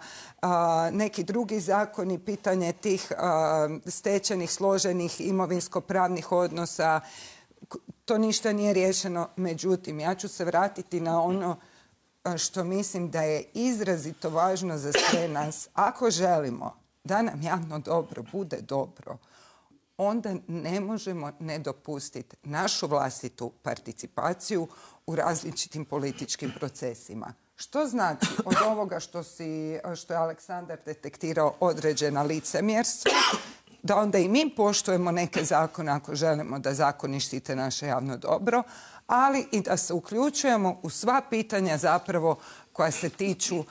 neki drugi zakoni, pitanje tih stečenih, složenih imovinsko-pravnih odnosa. To ništa nije riješeno. Međutim, ja ću se vratiti na ono što mislim da je izrazito važno za sve nas. Ako želimo da nam javno dobro bude dobro, onda ne možemo ne dopustiti našu vlastitu participaciju u različitim političkim procesima. Što znači od ovoga što je Aleksandar detektirao određena licemjerstva, da onda i mi poštujemo neke zakone ako želimo da zakoni štite naše javno dobro, ali i da se uključujemo u sva pitanja zapravo koja se tiču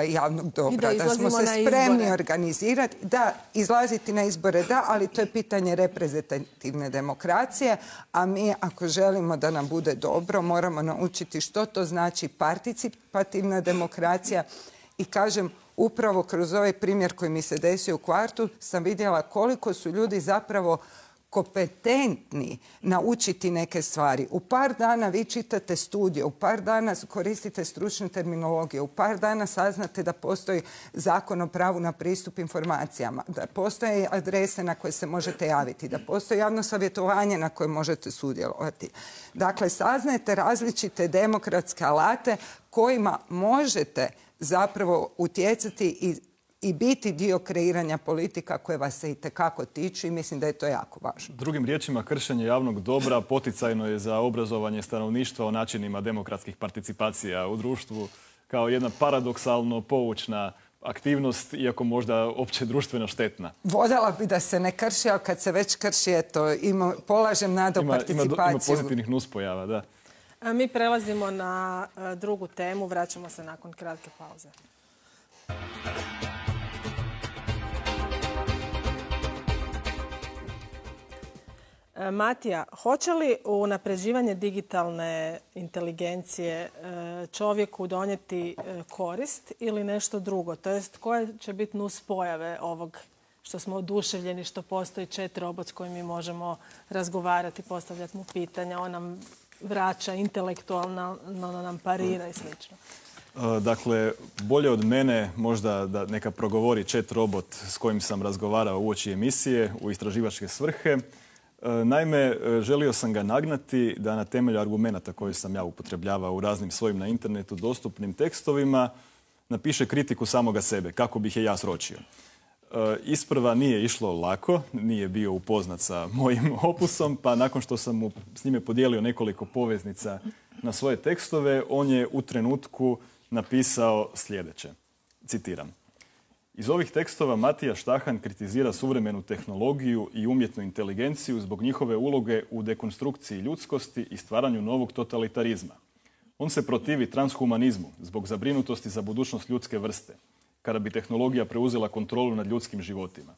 javnog dobra. Da smo se spremni organizirati. Da, izlaziti na izbore da, ali to je pitanje reprezentativne demokracije, a mi ako želimo da nam bude dobro, moramo naučiti što to znači participativna demokracija. I kažem, upravo kroz ovaj primjer koji mi se desio u kvartu sam vidjela koliko su ljudi zapravo kompetentni naučiti neke stvari. U par dana vi čitate studije, u par dana koristite stručne terminologije, u par dana saznate da postoji zakon o pravu na pristup informacijama, da postoje adrese na koje se možete javiti, da postoji javno savjetovanje na koje možete sudjelovati. Dakle, saznajete različite demokratske alate kojima možete zapravo utjecati i biti dio kreiranja politika koje vas se itekako tiču i mislim da je to jako važno. Drugim riječima, kršenje javnog dobra poticajno je za obrazovanje stanovništva o načinima demokratskih participacija u društvu kao jedna paradoksalno poučna aktivnost, iako možda opće društveno štetna. Voljela bi da se ne krši, ali kad se već krši, polažem nadu participaciju. Ima pozitivnih nuspojava, da. Mi prelazimo na drugu temu, vraćamo se nakon kratke pauze. Matija, hoće li unapređivanje digitalne inteligencije čovjeku donijeti korist ili nešto drugo? To jest, koje će biti nuspojave ovog što smo oduševljeni, što postoji chat robot s kojim mi možemo razgovarati, postavljati mu pitanja, on nam vraća intelektualno, nam parira i slično. Dakle, bolje od mene možda da neka progovori chat robot s kojim sam razgovarao uoči emisije u istraživačke svrhe. Naime, želio sam ga nagnati da na temelju argumenata koje sam ja upotrebljavao u raznim svojim na internetu dostupnim tekstovima napiše kritiku samoga sebe, kako bih je ja sročio. Isprva nije išlo lako, nije bio upoznat sa mojim opusom, pa nakon što sam mu s njime podijelio nekoliko poveznica na svoje tekstove, on je u trenutku napisao sljedeće. Citiram. Iz ovih tekstova Matija Štahan kritizira suvremenu tehnologiju i umjetnu inteligenciju zbog njihove uloge u dekonstrukciji ljudskosti i stvaranju novog totalitarizma. On se protivi transhumanizmu zbog zabrinutosti za budućnost ljudske vrste, kada bi tehnologija preuzela kontrolu nad ljudskim životima.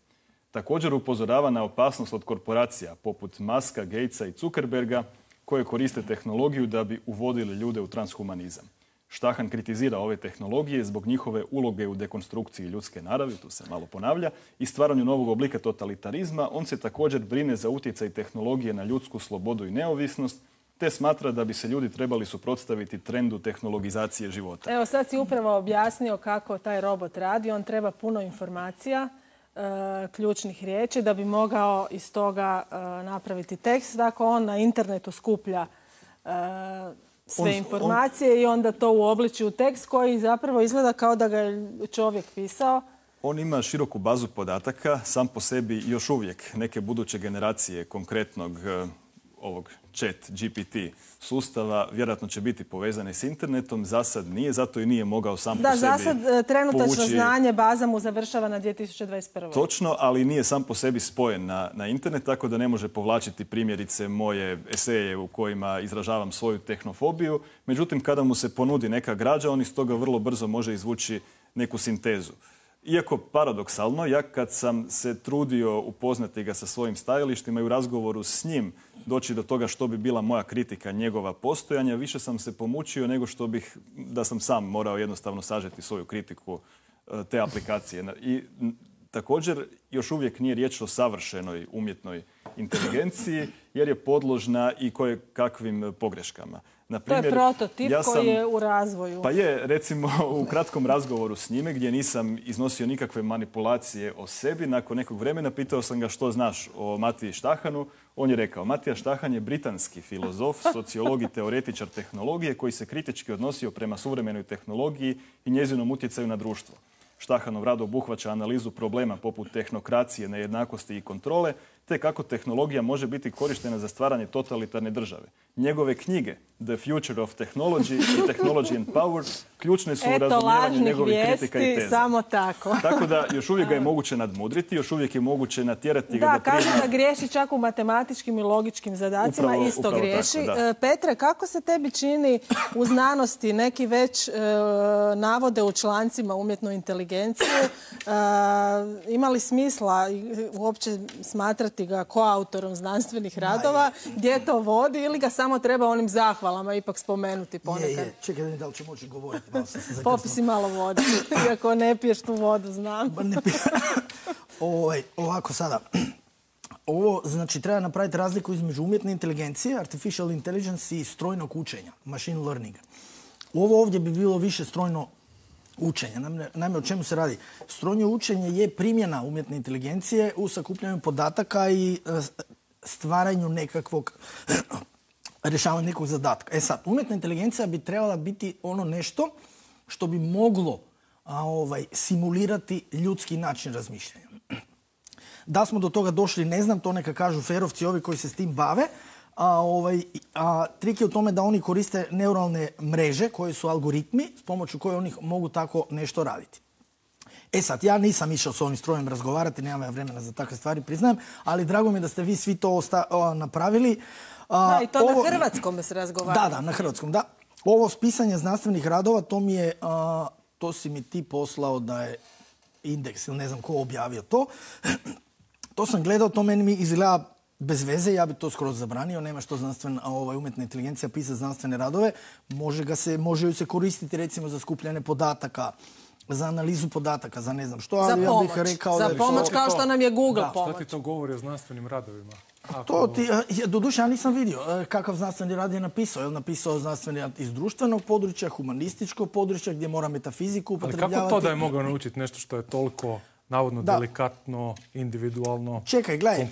Također upozorava na opasnost od korporacija poput Muska, Gatesa i Zuckerberga koje koriste tehnologiju da bi uvodili ljude u transhumanizam. Štahan kritizira ove tehnologije zbog njihove uloge u dekonstrukciji ljudske naravi, tu se malo ponavlja, i stvaranju novog oblika totalitarizma. On se također brine za utjecaj tehnologije na ljudsku slobodu i neovisnost, te smatra da bi se ljudi trebali suprotstaviti trendu tehnologizacije života. Evo, sad si upravo objasnio kako taj robot radi. On treba puno informacija ključnih riječi da bi mogao iz toga napraviti tekst. Dakle, on na internetu skuplja sve informacije i onda to uobliči u tekst koji zapravo izgleda kao da ga je čovjek pisao. On ima široku bazu podataka, sam po sebi još uvijek neke buduće generacije konkretnog ovog chat GPT sustava vjerojatno će biti povezane s internetom. Za sad nije, zato i nije mogao sam po sebi Da, za sad trenutačno znanje baza mu završava na 2021. Točno, ali nije sam po sebi spojen na internet, tako da ne može povlačiti primjerice moje eseje u kojima izražavam svoju tehnofobiju. Međutim, kada mu se ponudi neka građa, on iz toga vrlo brzo može izvući neku sintezu. Iako paradoksalno, ja kad sam se trudio upoznati ga sa svojim stajalištima i u razgovoru s njim doći do toga što bi bila moja kritika njegova postojanja, više sam se pomučio nego što bih, da sam sam morao jednostavno sažeti svoju kritiku te aplikacije. I također, još uvijek nije riječ o savršenoj umjetnoj inteligenciji, jer je podložna i kakvim pogreškama. To je prototip koji je u razvoju. Pa je, recimo, u kratkom razgovoru s njime, gdje nisam iznosio nikakve manipulacije o sebi, nakon nekog vremena pitao sam ga što znaš o Matiji Štahanu. On je rekao, Matija Štahan je britanski filozof, sociolog i teoretičar tehnologije koji se kritički odnosio prema suvremenoj tehnologiji i njezinom utjecaju na društvo. Štahanov rad obuhvaća analizu problema poput tehnokracije, nejednakosti i kontrole, te kako tehnologija može biti korištena za stvaranje totalitarne države. Njegove knjige The Future of Technology i Technology and Power ključne su u razumijevanju njegovih kritika i teza. Samo tako. Tako da još uvijek ga je moguće nadmudriti, još uvijek je moguće natjerati ga da prizna... Da, kaže da griješi čak u matematičkim i logičkim zadacima, isto griješi. Tako, Petre, kako se tebi čini u znanosti neki već navode u člancima umjetnu inteligenciju? Ima li smisla uopće smatrati ga koautorom znanstvenih radova? Gdje to vodi ili ga samo treba onim zahvalama ipak spomenuti ponekad? Čekaj, da li ću moći govoriti? Popisi malo vode, iako ne piješ tu vodu, znam. Ovako sada. Ovo, znači, treba napraviti razliku između umjetne inteligencije, artificial intelligence i strojnog učenja, machine learning. Ovo ovdje bi bilo više strojno učenje. Naime, o čemu se radi? Strojno učenje je primjena umjetne inteligencije u sakupljanju podataka i stvaranju nekakvog rješavanju nekog zadatka. Sad, umjetna inteligencija bi trebala biti ono nešto što bi moglo simulirati ljudski način razmišljanja. Da smo do toga došli, ne znam, to neka kažu ferovci, ovi koji se s tim bave. Trik je u tome da oni koriste neuralne mreže koje su algoritmi s pomoću koje oni mogu tako nešto raditi. Sad, ja nisam išao s ovim strojem razgovarati, nemam ja vremena za takve stvari, priznajem, ali drago mi je da ste vi svi to napravili. Da, i to na hrvatskom se razgovara. Da, na hrvatskom, da. Ovo spisanje znanstvenih radova, to si mi ti poslao da je Indeks ili ne znam ko objavio to. To sam gledao, to meni mi izgleda bez veze, ja bi to skroz zabranio, nema što umjetna inteligencija pisati znanstvene radove. Može ju se koristiti recimo za skupljanje podataka, za analizu podataka, za ne znam što, ali ja bih rekao... Za pomoć kao što nam je Google pomoć. Što ti to govori o znanstvenim radovima? Doduše, ja nisam vidio kakav znanstveni rad je napisao. Je li napisao znanstveni rad iz društvenog područja, humanističkog područja, gdje mora metafiziku upotrebljavati? Ali kako to da je mogao naučiti nešto što je toliko navodno delikatno, individualno, kompleksno? Čekaj, gledaj,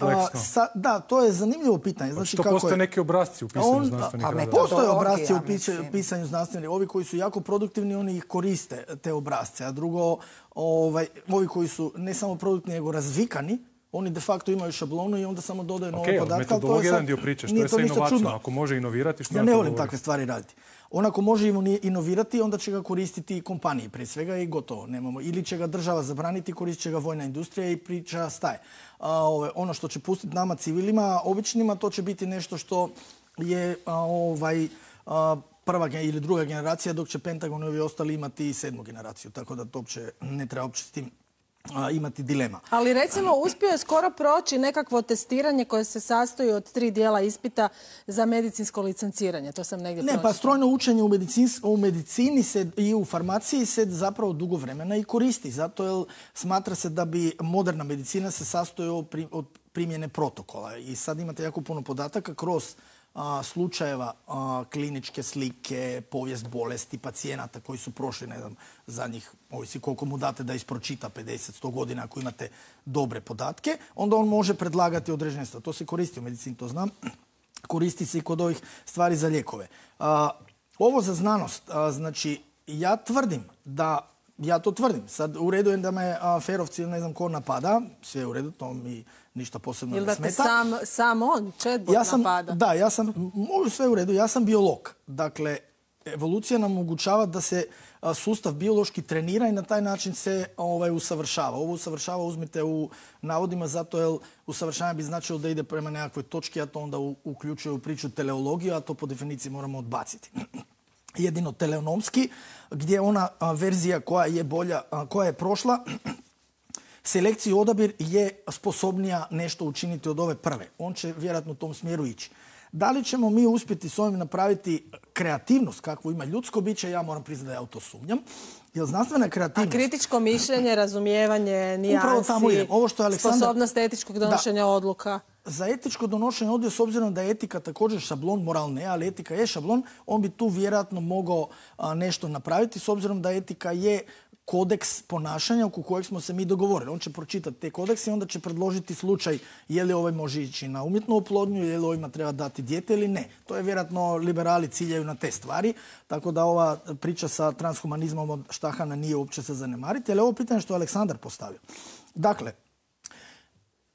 da, to je zanimljivo pitanje. Znači, što postoje neki obrazci u pisanju znanstvenih radova? Postoje obrazci u pisanju znanstvenih. Ovi koji su jako produktivni, oni ih koriste, te obrazce. A drugo, ovi koji su ne samo produktivni, nego razvikani, oni de facto imaju šablonu i onda samo dodaju nove podatke. Metodologija je jedan dio priče. Što je sa inovacijom? Ako može inovirati, što ja ne volim takve stvari raditi. On ako može inovirati, onda će ga koristiti kompanije prije svega i gotovo. Nemamo. Ili će ga država zabraniti, koristit će ga vojna industrija i priča staje. Ono što će pustiti nama civilima, običnima, to će biti nešto što je prva ili druga generacija, dok će Pentagon i ovi ostali imati 7. generaciju. Tako da to ne treba uopće s tim imati dilema. Ali recimo uspio je skoro proći nekakvo testiranje koje se sastoji od 3 dijela ispita za medicinsko licenciranje. To sam negdje pročitala. Pa strojno učenje u medicini i u farmaciji se zapravo dugo vremena i koristi. Zato jer smatra se da bi moderna medicina se sastoji od primjene protokola. I sad imate jako puno podataka kroz slučajeva kliničke slike, povijest bolesti pacijenata koji su prošli, ne znam, zadnjih, ovisi koliko mu date da ispročita 50-100 godina ako imate dobre podatke, onda on može predlagati određene stvari. To se koristi u medicini, to znam. Koristi se i kod ovih stvari za lijekove. Ovo za znanost, znači, ja to tvrdim. Sad u redu je da me ferovci ili ne znam ko napada, sve je u redu, to mi ništa posebno ne smeta. Ili da te sam on, chatbot napada? Da, sve u redu, ja sam biolog. Dakle, evolucija nam omogućava da se sustav biološki trenira i na taj način se usavršava. Ovo usavršava uzmite u navodima zato jer usavršavanje bi značilo da ide prema nekakvoj točki, a to onda uključuje u priču teleologiju, a to po definiciji moramo odbaciti. Jedino teleonomski, gdje ona verzija koja je bolja, koja je prošla, selekciju odabir je sposobnija nešto učiniti od ove prve. On će vjerojatno u tom smjeru ići. Da li ćemo mi uspjeti s ovim napraviti kreativnost kakvu ima ljudsko biće, ja moram priznati da ja u to sumnjam. Jer znanstvena kreativnost... A kritičko mišljenje, razumijevanje, nijansi, sposobnost etičkog donošenja odluka? Za etičko donošenje odluka, s obzirom da je etika također šablon, moral ne, ali etika je šablon, on bi tu vjerojatno mogao nešto napraviti, s obzirom da etika je kodeks ponašanja oko kojeg smo se mi dogovorili. On će pročitati te kodekse i onda će predložiti slučaj je li ovaj može ići na umjetnu oplodnju, je li ovima treba dati dijete ili ne. To je vjerojatno liberali ciljaju na te stvari, tako da ova priča sa transhumanizmom od Štahana nije uopće se zanemariti, ali ovo pitanje što je Aleksandar postavio. Dakle,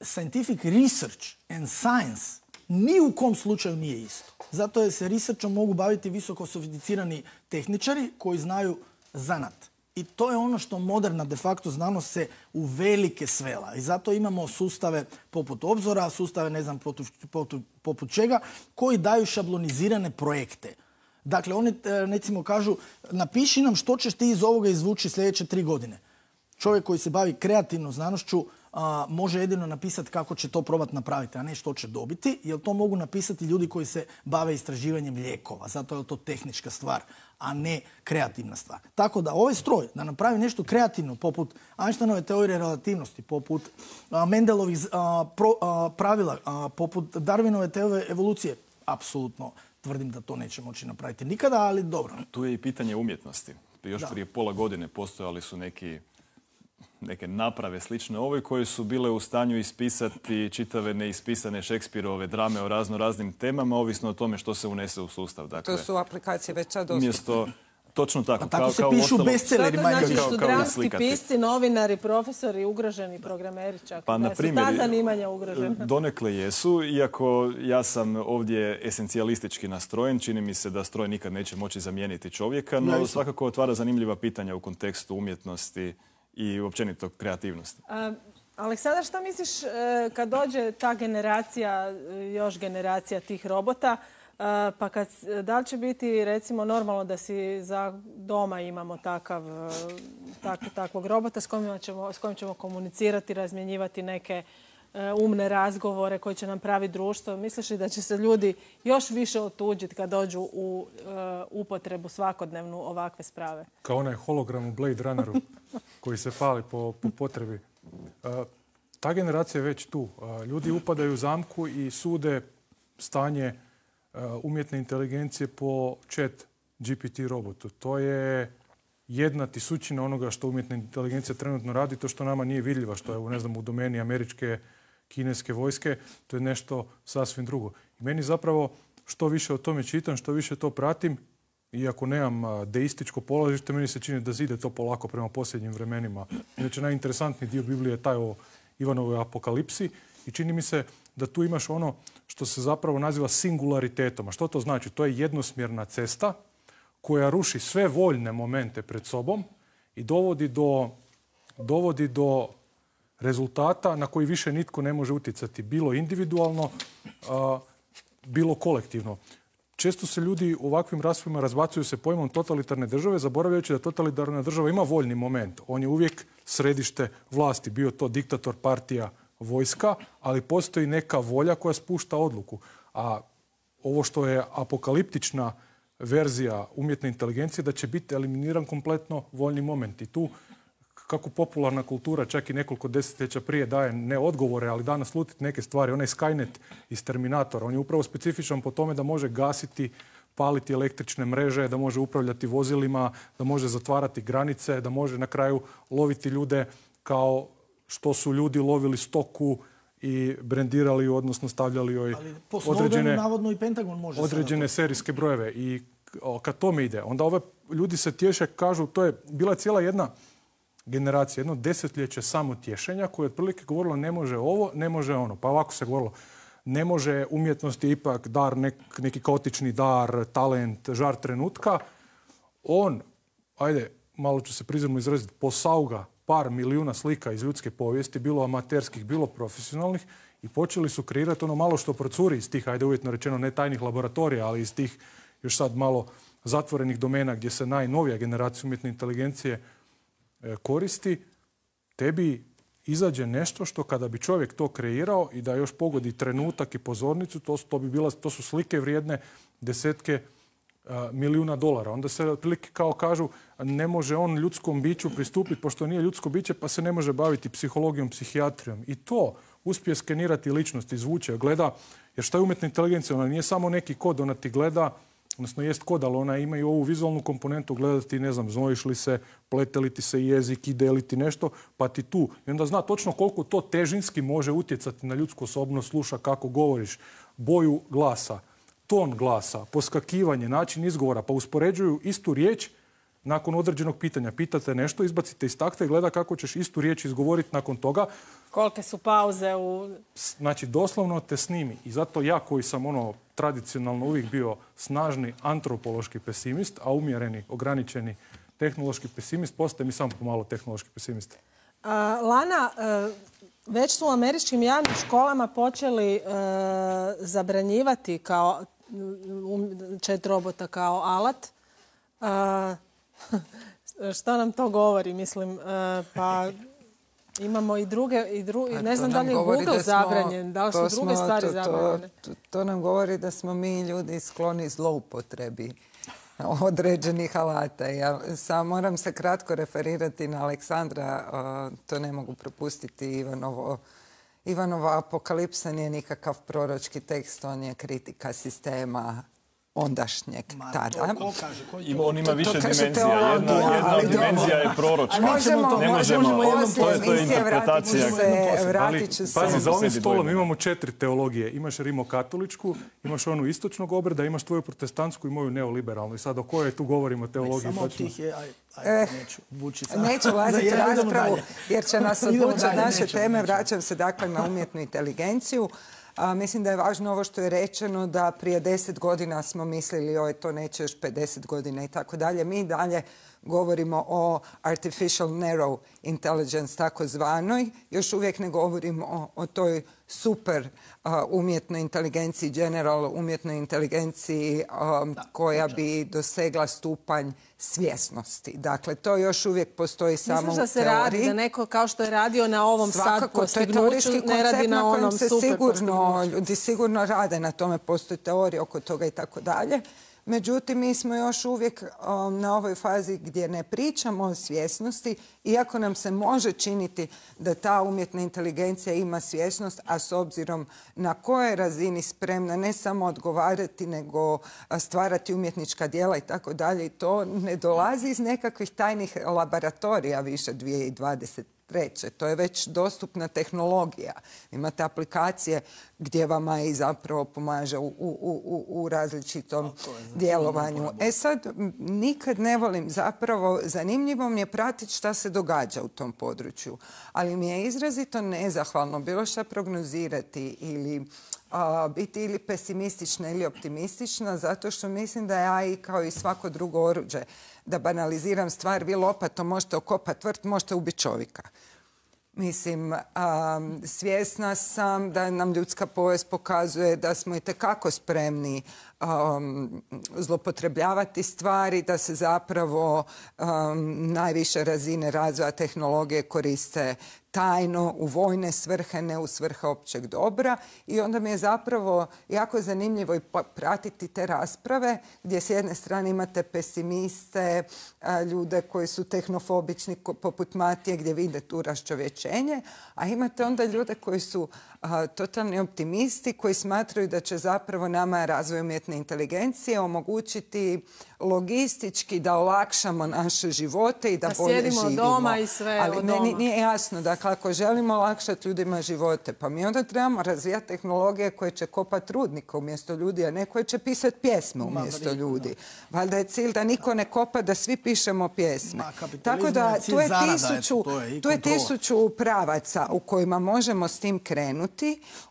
scientific research and science ni u kom slučaju nije isto. Zato je se researchom mogu baviti visoko sofisticirani tehničari koji znaju zanat. I to je ono što moderna de facto znanost se u velike svela. I zato imamo sustave poput Obzora, sustave ne znam poput čega, koji daju šablonizirane projekte. Dakle, oni recimo kažu, napiši nam što ćeš ti iz ovoga izvući sljedeće 3 godine. Čovjek koji se bavi kreativnom znanošću može jedino napisati kako će to probati napraviti, a ne što će dobiti, jer to mogu napisati ljudi koji se bave istraživanjem lijekova. Zato je to tehnička stvar, a ne kreativna stvar. Tako da ovaj stroj, da napravi nešto kreativno, poput Einsteinove teorije relativnosti, poput Mendelovih pravila, poput Darwinove teorije evolucije, apsolutno tvrdim da to neće moći napraviti nikada, ali dobro. Tu je i pitanje umjetnosti. Još prije pola godine postojali su neke naprave slične ovoj koje su bile u stanju ispisati čitave neispisane Šekspirove drame o raznim temama, ovisno o tome što se unese u sustav. Dakle, to su aplikacije već sad dostupne. Točno tako. Tako se pišu bestselleri. Znači su dramski pisci, novinari, profesori, ugroženi programeri čak. Pa, na primjer, su ta zanimanja ugrožena? Donekle jesu, iako ja sam ovdje esencijalistički nastrojen. Čini mi se da stroj nikad neće moći zamijeniti čovjeka, no svakako otvara zanimljiva pitanja u kontekstu umjetnosti i općenito kreativnosti. Aleksandar, što misliš kad dođe ta generacija, još generacija tih robota, pa da li će biti recimo normalno da si za doma imamo takvog robota s kojim ćemo komunicirati, razmjenjivati neke umne razgovore koji će nam praviti društvo? Misliš li da će se ljudi još više otuđiti kad dođu u upotrebu svakodnevnu ovakve sprave? Kao onaj hologram u Blade Runneru koji se pali po potrebi. Ta generacija je već tu. Ljudi upadaju u zamku i sude stanje umjetne inteligencije po chat GPT robotu. To je 1/1000 onoga što umjetna inteligencija trenutno radi, to što nama nije vidljiva, što je u domeni američke, kineske vojske, to je nešto sasvim drugo. I meni zapravo što više o tome čitam, što više to pratim, iako nemam deističko polažište, meni se čini da zide to polako prema posljednjim vremenima. Inače, najinteresantniji dio Biblije je taj o Ivanovoj apokalipsi i čini mi se da tu imaš ono što se zapravo naziva singularitetom. A što to znači? To je jednosmjerna cesta koja ruši sve voljne momente pred sobom i dovodi do rezultata na koji više nitko ne može utjecati, bilo individualno, bilo kolektivno. Često se ljudi u ovakvim raspravama razbacuju se pojmom totalitarne države, zaboravljajući da totalitarna država ima voljni moment. On je uvijek središte vlasti, bio to diktator, partija, vojska, ali postoji neka volja koja spušta odluku. A ovo što je apokaliptična verzija umjetne inteligencije, da će biti eliminiran kompletno voljni moment. I tu kako popularna kultura čak i nekoliko desetljeća prije daje ne odgovore, ali da naslutiti neke stvari. Onaj Skynet iz Terminatora, on je upravo specifičan po tome da može gasiti, paliti električne mreže, da može upravljati vozilima, da može zatvarati granice, da može na kraju loviti ljude kao što su ljudi lovili stoku i brendirali, odnosno stavljali joj određene serijske brojeve. I kad tome ide, onda ove ljudi se tješe, kažu, to je bila cijela jedna generacija, jedno desetljeće samo tješenja koje je otprilike govorilo ne može ovo, ne može ono. Pa ovako se govorilo, ne može, umjetnost je ipak dar, neki kaotični dar, talent, žar trenutka. On, ajde, malo ću se prizemno izraziti, posauga par milijuna slika iz ljudske povijesti, bilo amaterskih, bilo profesionalnih, i počeli su kreirati ono malo što procuri iz tih, ajde uvjetno rečeno, ne tajnih laboratorija, ali iz tih još sad malo zatvorenih domena gdje se najnovija generacija umjetne inteligencije koristi. Tebi izađe nešto što kada bi čovjek to kreirao i da još pogodi trenutak i pozornicu, to su slike vrijedne desetke milijuna dolara. Onda se otprilike kao kažu ne može on ljudskom biću pristupiti pošto nije ljudsko biće pa se ne može baviti psihologijom, psihijatrijom. I to uspije skenirati ličnost, izvuče, gleda. Jer šta je umjetna inteligencija? Ona nije samo neki kod, ona ti gleda, odnosno jest kod, ali ona ima i ovu vizualnu komponentu, gledati, ne znam, znojiš li se, plete li ti se jezik, ide li ti nešto, pa ti tu. I onda zna točno koliko to težinski može utjecati na ljudsku osobnost, sluša kako govoriš, boju glasa, ton glasa, poskakivanje, način izgovora, pa uspoređuju istu riječ nakon određenog pitanja. Pitate nešto, izbacite iz takta i gleda kako ćeš istu riječ izgovoriti nakon toga. Kolike su pauze u... Znači, doslovno te snimi. I zato ja koji sam tradicionalno uvijek bio snažni antropološki pesimist, a umjereni, ograničeni tehnološki pesimist, postaje mi samo pomalo tehnološki pesimist. Lana, već su u američkim javnim školama počeli zabranjivati kao chat robota kao alat. Što nam to govori? Mislim, pa imamo i druge, ne znam da li je Google zabranjen, da li su druge stvari zabranjene. To nam govori da smo mi ljudi skloni zloupotrebi određenih alata. Ja sam moram se kratko referirati na Aleksandra, to ne mogu propustiti. Ivanova apokalipsa nije nikakav proročki tekst, on je kritika sistema ondašnjeg tada. On ima više dimenzija. Jedna od dimenzija je proročka. Ne možemo, to je interpretacija. Pazi, za ovim stolom imamo 4 teologije. Imaš rimokatoličku, imaš onu istočnog obreda, imaš tvoju protestantsku i moju neoliberalnu. I sad o kojoj tu govorimo teologiji? Samo tih je, neću ulaziti u raspravu jer će nas odvući od naše teme. Vraćam se dakle na umjetnu inteligenciju. Mislim da je važno ovo što je rečeno da prije 10 godina smo mislili oj to neće još 50 godina i tako dalje. Mi dalje govorimo o artificial narrow intelligence takozvanoj. Još uvijek ne govorimo o toj super umjetnoj inteligenciji, general umjetnoj inteligenciji koja bi dosegla stupanj svjesnosti. Dakle, to još uvijek postoji samo u teoriji. Misliš da se radi, da neko kao što je radio na ovom sad postignuću, ne radi na onom super postignuću? Ljudi sigurno rade na tome, postoji teorija oko toga i tako dalje. Međutim, mi smo još uvijek na ovoj fazi gdje ne pričamo o svjesnosti, iako nam se može činiti da ta umjetna inteligencija ima svjesnost, a s obzirom na kojoj razini spremna ne samo odgovarati, nego stvarati umjetnička djela i tako dalje. I to ne dolazi iz nekakvih tajnih laboratorija više 2023. To je već dostupna tehnologija. Imate aplikacije gdje vama i zapravo pomaže u različitom djelovanju. Sad, nikad ne volim zapravo, zanimljivo mi je pratiti šta se događa u tom području. Ali mi je izrazito nezahvalno bilo šta prognozirati ili biti ili pesimistična ili optimistična, zato što mislim da je AI kao i svako drugo oruđe. Da banaliziram stvar, vi lopatom možete okopati vrt, možete ubiti čovjeka. Mislim, svjesna sam da nam ljudska povijest pokazuje da smo itekako spremni zlopotrebljavati stvari, da se zapravo najviše razine razvoja tehnologije koriste tajno u vojne svrhe, ne u svrhe općeg dobra. I onda mi je zapravo jako zanimljivo i pratiti te rasprave gdje s jedne strane imate pesimiste, ljude koji su tehnofobični poput Matije gdje vide tu raščovječenje, a imate onda ljude koji su totalni optimisti koji smatraju da će zapravo nama razvoj umjetne inteligencije omogućiti logistički da olakšamo naše živote i da bolje živimo. Sjedimo doma i sve ali od meni doma. nije jasno, dakle ako želimo olakšati ljudima živote, pa mi onda trebamo razvijati tehnologije koje će kopati rudnika umjesto ljudi, a ne koje će pisati pjesme umjesto ljudi. Valjda je cilj da niko ne kopa, da svi pišemo pjesme. Tako da tu je 1000 pravaca u kojima možemo s tim krenuti,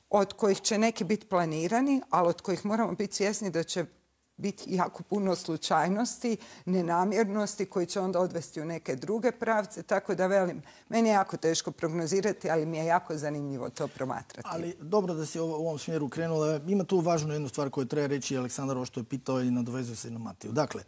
od kojih će neki biti planirani, ali od kojih moramo biti svjesni da će biti jako puno slučajnosti, nenamjernosti koji će onda odvesti u neke druge pravce. Tako da velim, meni je jako teško prognozirati, ali mi je jako zanimljivo to promatrati. Ali dobro da si u ovom smjeru krenula. Ima tu važnu jednu stvar koju treba reći Aleksandar, ovo što je pitao i nadovezuje se i na Matiju. Dakle,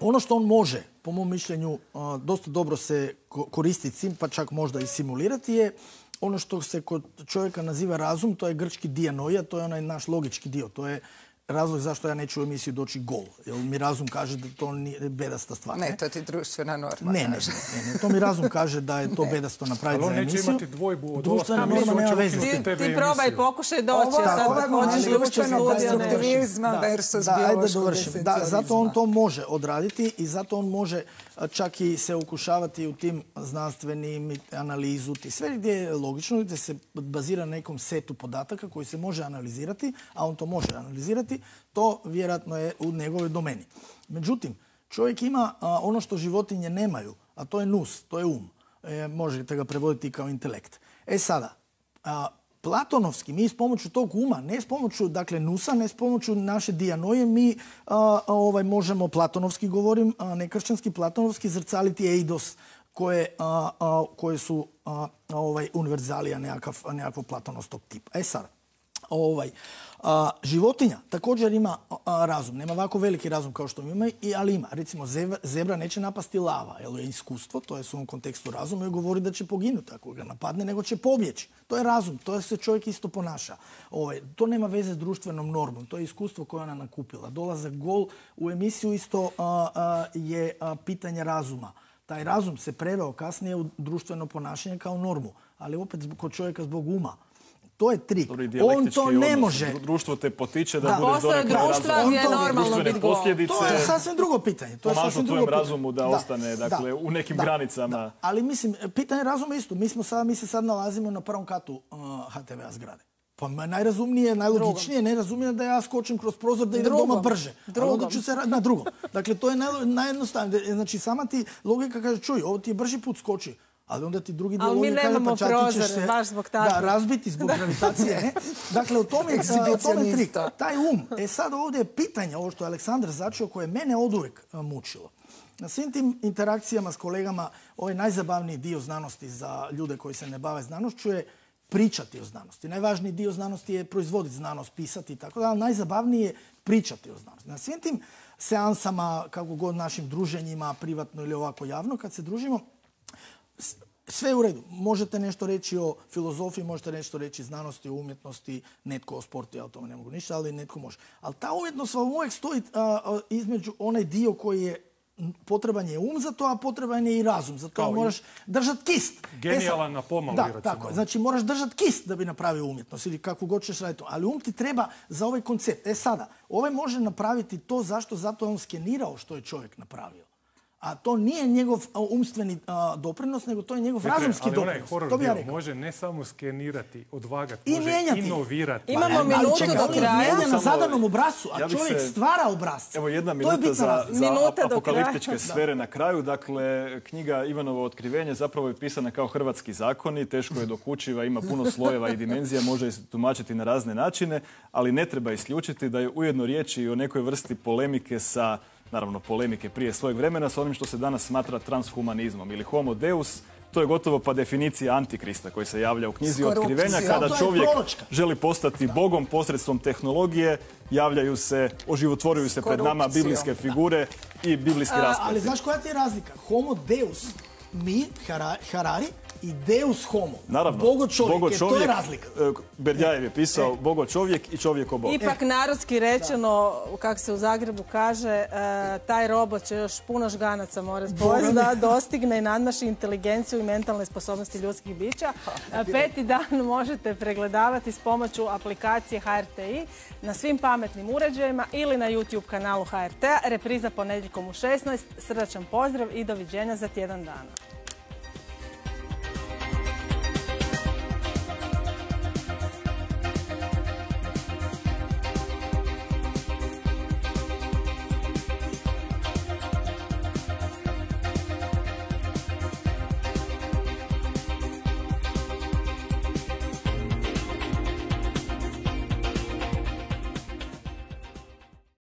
ono što on može, po mom mišljenju, dosta dobro se koristiti, pa čak možda i simulirati je ono što se kod čovjeka naziva razum, to je grčki dianoia, to je onaj naš logički dio, to je razlog zašto ja neću u emisiju doći gol. Jer mi razum kaže da to nije bedasta stvar. Ne, to ti društvena norma kaže. Ne, to mi razum kaže da je to bedasto napraviti za emisiju. Ali on neće imati dvojbu od društvena norma nema veze s tim. Ti probaj, pokušaj doći. Društvenog versus biološkog esencializma. Zato on to može odraditi i zato on može čak i se ukušavati u tim znanstvenim analizu. Sve gdje je logično, gdje se bazira na nekom setu podataka koji se može analizirati, a on to može analizirati, to vjerojatno je u njegovoj domeni. Međutim, čovjek ima ono što životinje nemaju, a to je nus, to je um. Možete ga prevoditi kao intelekt. Sada, platonovski, mi s pomoću tog uma, ne s pomoću nusa, ne s pomoću naše dianoje, mi možemo, platonovski govorim, nekršćanski platonovski, zrcaliti eidos koje su univerzalija nekakvog platonovskog tipa. Sada, životinja također ima razum. Nema ovako veliki razum kao što ima, ali ima. Recimo, zebra neće napasti lava, jer je iskustvo, to je u svom kontekstu razum, i govori da će poginuti ako ga napadne, nego će pobjeći. To je razum, to se čovjek isto ponaša. To nema veze s društvenom normom, to je iskustvo koje ona nakupila. Dolazak gol u emisiju isto je pitanje razuma. Taj razum se preveo kasnije u društveno ponašanje kao normu, ali opet kod čovjeka zbog uma. To je trik. On to ne može. Društvo te potiče da budeš postoje društva gdje je normalno biti gol. To je sasvim drugo pitanje. Pomažu tvojem razumu da ostane u nekim granicama. Ali mislim, pitanje razuma isto. Mi se sad nalazimo na prvom katu HTV-a zgrade. Pa najrazumnije, najlogičnije, najrazumnije da ja skočim kroz prozor da idem doma brže. Ali onda ću se na drugom. Dakle, to je najjednostavnije. Znači, sama ti logika kaže, čuj, ovo ti je brži put, skoči. Ali onda ti drugi dio logike kaže, pa čak ti ćeš se razbiti zbog gravitacije. Dakle, u tome je trik. Taj um. Sad ovdje je pitanje, ovo što je Aleksandar začeo, koje je mene oduvijek mučilo. Na svim tim interakcijama s kolegama, ovaj najzabavniji dio znanosti za ljude koji se ne bave znanošću je pričati o znanosti. Najvažniji dio znanosti je proizvoditi znanost, pisati i tako da, ali najzabavniji je pričati o znanosti. Na svim tim seansama, kako god našim druženjima, privatno ili ovako javno, kad se družimo, sve je u redu. Možete nešto reći o filozofiji, možete nešto reći o znanosti, o umjetnosti, netko o sportu, ja o tome ne mogu ništa, ali netko može. Ali ta umjetnost vam uvijek stoji između onaj dio koji je potreban je um za to, a potreban je i razum. Za to moraš držati kist. Genijalan na pomali, recimo. Da, tako. Znači moraš držati kist da bi napravio umjetnost ili kakvu god ćeš raditi. Ali um ti treba za ovaj koncept. Sada, ovaj može napraviti to zašto? Zato je on skenirao što je čovjek napravio. A to nije njegov umstveni doprinos, nego to je njegov razumski doprinos. Onaj horor dio može ne samo skenirati, odvagati, i može mijenjati. Imamo Inovirati. minutu do kraja. On je na zadanom obrazcu, a čovjek stvara obrazce. Evo jedna minuta za apokaliptičke sfere na kraju. Dakle, knjiga Ivanovo otkrivenje zapravo je pisana kao hrvatski zakoni, teško je dokučiva, ima puno slojeva i dimenzija, može se tumačiti na razne načine, ali ne treba isključiti da je ujedno riječ i o nekoj vrsti polemike sa, naravno polemike prije svojeg vremena, sa onim što se danas smatra transhumanizmom ili homo deus. To je gotovo pa definicija antikrista koji se javlja u knjizi otkrivenja. Kada čovjek želi postati bogom posredstvom tehnologije, javljaju se, oživotvoruju se pred nama biblijske figure i biblijski raspleti. Ali znaš koja ti je razlika? Homo deus Harari i Deus homo. Naravno. Bogo čovjek, jer to je razlika. Berdjajev je pisao Bogo čovjek i čovjek o Bogu. Ipak narodski rečeno, kako se u Zagrebu kaže, taj robot će još puno žganaca morati pojesti da dostigne i nadmaši inteligenciju i mentalne sposobnosti ljudskih bića. 5. dan možete pregledavati s pomoću aplikacije HRTi na svim pametnim uređajima ili na YouTube kanalu HRT-a. Repriza ponedjeljkom u 16. Srdačan pozdrav i doviđenja za tjedan dana.